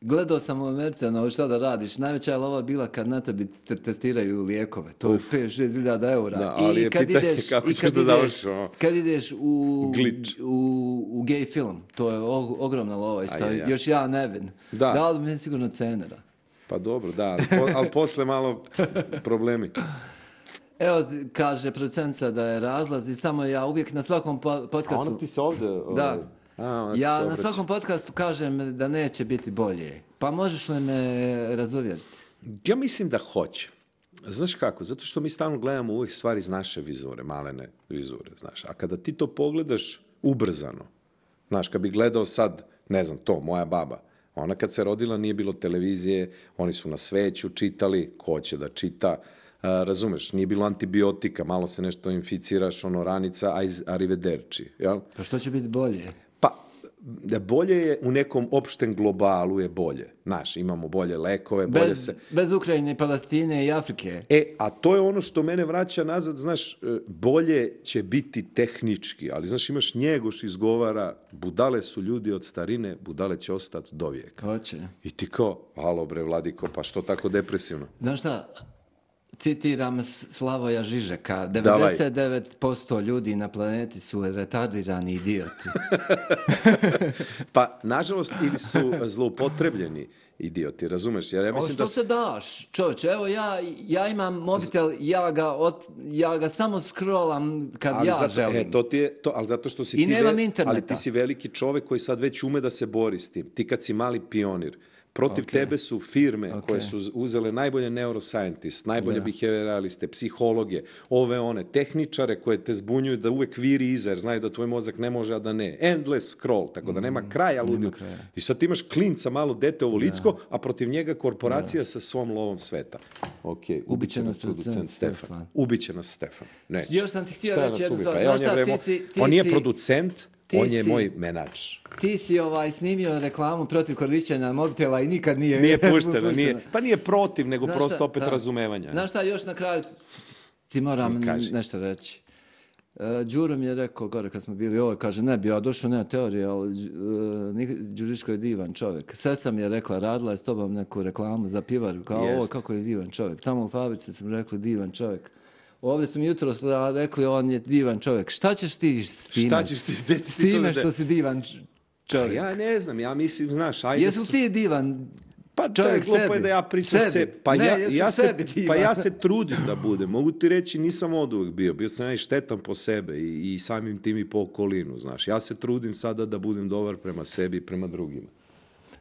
Gledao sam u Americi, ono, šta da radiš. Najveća je lova bila kad na tebi te testiraju lijekove. To je pet šest hiljada eura. Da, ali I je kad pitanje ideš, kako i ćeš kad da ideš- završiš, ono. Kad ideš u, Glitch. u, u gay film, to je o- ogromna lova. Isto, Aj, aj, aj. još ja nevin. Da. Dali bi mi sigurno cenera. Pa dobro, da, ali, po, ali posle malo problemi. Evo, kaže producentica da je razlaz i samo ja uvijek na svakom po- A podcastu... ona ti se ovde... ovaj, Da. A, ona ti se Ja na obraća. svakom podcastu kažem da neće biti bolje. Pa možeš li me razuvjeriti? Ja mislim da hoće. Znaš kako? Zato što mi stalno gledamo uvijek stvari iz naše vizure, malene vizure, znaš. A kada ti to pogledaš ubrzano, znaš, kad bi gledao sad, ne znam, to, moja baba, ona kad se rodila nije bilo televizije, oni su na sveću čitali, ko će da čita, a, razumeš, nije bilo antibiotika, malo se nešto inficiraš, ono, ranica, a iz arrivederci, jel? Pa što će biti bolje? Pa, da bolje je u nekom opštem globalu je bolje. Znaš, imamo bolje lekove, bolje Bez, se... bez Ukrajine, Palestine i Afrike. E, a to je ono što mene vraća nazad, znaš, e, bolje će biti tehnički, ali znaš, imaš Njegoš izgovara, budale su ljudi od starine, budale će ostati do vijeka. Hoće. I ti kao, alo bre, Vladiko, pa što tako depresivno? Znaš šta? Citiram S- Slavoja Žižeka. Davaj. devedeset devet posto ljudi na planeti su retardirani idioti. Pa, nažalost, ili su zloupotrebljeni idioti, razumeš? Jer ja O mislim što da... se daš, čovječe? Evo ja, ja imam mobitel, ja ga, od, ja ga samo scrollam kad Ali ja zato, želim. E, to ti je, to, ali zato što si I ti nemam ve- interneta. ali ti si veliki čovek koji sad već ume da se bori s tim. Ti kad si mali pionir, protiv Ok. tebe su firme Ok. koje su uzele najbolje neuroscientist, najbolje Da. behavioraliste, psihologe, ove one, tehničare koje te zbunjuju da uvek viri iza, jer znaju da tvoj mozak ne može, a da ne. Endless scroll, tako da nema kraja ludilu. kraja. I sad ti imaš klinca, malo dete ovo licko, a protiv njega korporacija sa svom lovom sveta. Ok, ubiće nas producent Stefan. Stefan. Ubiće nas Stefan. Neće. Još sam ti htio Šta reći nas jednu ubi? stvar. Pa je, Znaš on je, šta, bre, ti mo- si- ti on nije si- producent, ti on je si- moj menač. Ti si ovaj snimio reklamu protiv korišćenja mobitela i nikad nije... Nije pušteno, nije, pa nije protiv, nego Znaš prosto šta? opet Da. razumevanja. Znaš šta, još na kraju ti moram Kaži. nešto reći. Uh, Đuro mi je rekao gore kad smo bili ovo, kaže ne bi ja došao, nema teorije, ali uh, Đuriško je divan čovjek. Sestra mi je rekla, radila je s tobom neku reklamu za pivaru, kao Jest. ovo kako je divan čovjek. Tamo u fabrici sam rekli divan čovjek. Ovdje su mi jutro rekli on je divan čovjek. Šta ćeš ti s time? Šta ćeš ti, gde ćeš S ti to time da- što si divan č- čovjek. Ja ne znam, ja mislim, znaš, ajde... Jesu ti divan Pa to čovjek je glupo sebi? je da ja pričam Sebi. se, pa, Ne, ja, jesu ja se, sebi divan. pa ja se trudim da budem. Mogu ti reći, nisam od uvijek bio. Bio sam ja i štetan po sebe i, i samim tim i po okolinu, znaš. Ja se trudim sada da budem dobar prema sebi i prema drugima.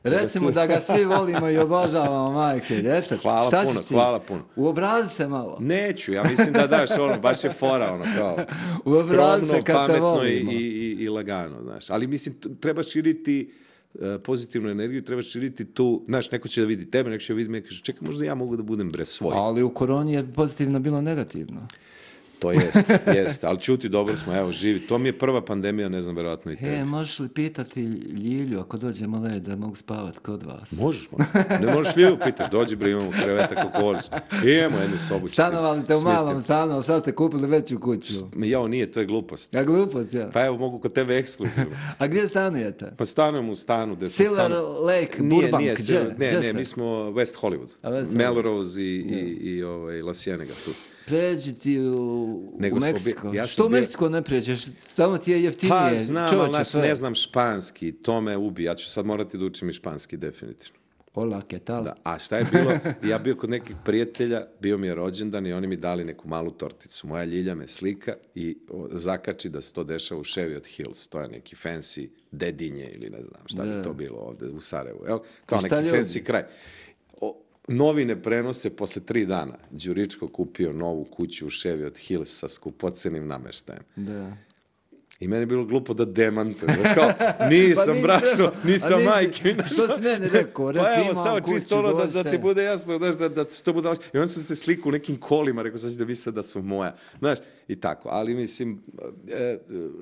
Recimo da ga svi volimo i obožavamo, majke. Eto, Hvala šta puno, ćeš ti? hvala puno. Uobrazi se malo. Neću, ja mislim da daš ono, baš je fora ono kao Uobrazi skromno, se kad te pametno i, volimo. i, i, i lagano, znaš. Ali mislim, t- treba širiti uh, pozitivnu energiju, treba širiti tu, znaš, neko će da vidi tebe, neko će da vidi me, kaže, čekaj, možda ja mogu da budem bre svoj. Ali u koroni je pozitivno bilo negativno. To jest, jest, ali čuti, dobro smo, evo, živi. To mi je prva pandemija, ne znam, verovatno i tebi. He, možeš li pitati Ljilju ako dođemo led da mogu spavati kod vas? Možeš, man. Ne možeš Ljilju pitaš, dođi bre, imamo kreveta kako voliš. Imamo jednu sobu. Stanovali ste u malom stanu, ali sad ste kupili veću kuću. Jao, nije, to je glupost. Ja glupost, ja. Pa evo, mogu kod tebe ekskluzivno. A gdje stanujete? Pa stanujem u stanu gde sam Silver stanu... Lake, Nije, Burbank, nije, gdje? ne, Gdje ne, ste? mi smo West Hollywood. A, West Hollywood. Melrose i, i, i ovaj, La Cienega tu. Pređi ti u, Nego u smo Meksiko. bi- ja sam Što u bio- Meksiko ne pređeš? Tamo ti je jeftinije. Pa znam, ali čovječe, znaš, sve. ne znam španski, to me ubi. Ja ću sad morati da učim i španski, definitivno. Hola, ¿qué tal? Da. A šta je bilo? Ja bio kod nekih prijatelja, bio mi je rođendan i oni mi dali neku malu torticu. Moja Ljilja me slika i o, zakači da se to dešava u Cheviot Hills. To je neki fancy dedinje ili ne znam šta Da. bi to bilo ovde u Sarajevu. Jel? Kao I šta neki ljudi? fancy kraj. O, novine prenose posle tri dana. Đuričko kupio novu kuću u Cheviot Hills sa skupocenim nameštajem. Da. I meni je bilo glupo da demantujem. Da kao, nisam Pa nisi brašo, trebao. A nisam nisi- majke. što si meni rekao? Reci, Pa evo, imam samo kuću, čisto ono da, dođi da se. ti bude jasno, znaš, da, da to bude... I onda sam se slikao u nekim kolima, rekao, sad će da misle da su moja. Znaš, i tako. Ali mislim, e,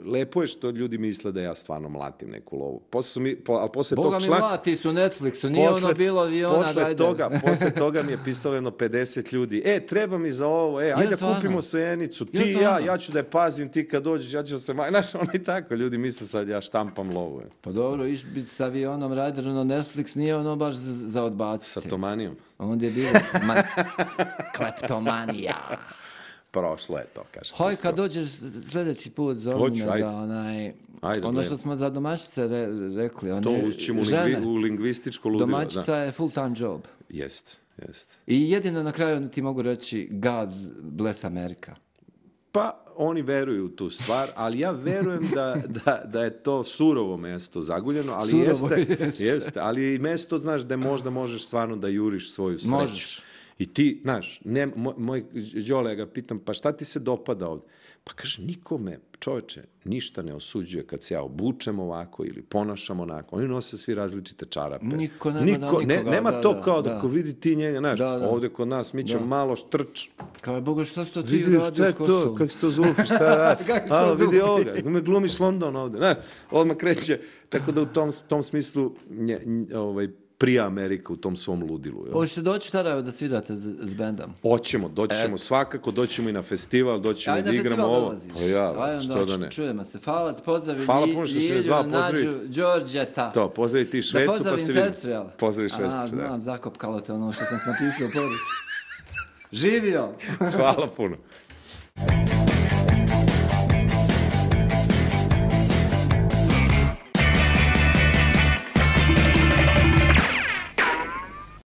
lepo je što ljudi misle da ja stvarno mlatim neku lovu. Posle su mi, po, ali posle Boga tog mi članka... mlati su Netflixu, nije ono bilo aviona, posle dajde. toga, posle toga mi je pisalo jedno pedeset ljudi. E, treba mi za ovo, e, ajde da stvarno? kupimo sojenicu. Ti Ja, i ja, stvarno? ja ću da je pazim, ti kad dođeš, ja ću da se... maj- Znaš, ono i tako, ljudi misle sad ja štampam lovu. je. Pa dobro, iš bi s avionom raditi, no Netflix nije ono baš za, za odbaciti. Sa tomanijom. Onda je bilo man... kleptomanija. Prošlo je to, kaže. Hoj, pusto. kad dođeš sljedeći put, zove Hoću, me ajde. da onaj... Ajde, ono gledam. što smo za domaćice re, rekli, one To učimo u, žene, lingvi, u lingvističko ludilo. domaćica Da. je full time job. Jest, jest. I jedino na kraju ti mogu reći God bless America. Pa oni veruju u tu stvar, ali ja verujem da, da, da je to surovo mesto zaguljeno, ali Surovo jeste, jeste. jeste, ali je i mesto, znaš, da možda možeš stvarno da juriš svoju sreću. Možeš. I ti, znaš, ne, moj, moj Đole, ja ga pitam, pa šta ti se dopada ovdje? Pa kaže, nikome, čoveče, ništa ne osuđuje kad se ja obučem ovako ili ponašam onako. Oni nose svi različite čarape. Niko nema da ne, nikoga, nema da, to da, kao da, da. ko vidi ti njega, znaš, Da, da. ovdje kod nas, mi ćemo Da. malo štrč. Kao je, Boga, što si to ti Vidi, uradio šta je s to, Kosovom? kako se to Zulfi, šta radi? Kako se to Alo, vidi Zulfi? ovoga, me glumiš London ovdje, znaš, odmah kreće, tako da u tom, tom smislu nje, nje, ovaj, prija Amerika u tom svom ludilu. Jel? Hoćete doći u Sarajevo da svirate s, s bendom? Hoćemo, doći ćemo svakako, doći ćemo i na festival, doći ćemo Ajde da na igramo festival ovo. dolaziš. Pa ja, Ajde, što onda da ne. čujemo se. Hvala ti, pozdravi Hvala Lji- puno što si me Ljilju, zvao, Nađu, pozdravi. Đorđeta. To, pozdravi ti Da Švecu, pa pozdravim se vidi. sestru, jel? Pozdravi A, Švecu, da. znam, zakopkalo te ono što sam napisao u poruci. Živio! Hvala puno.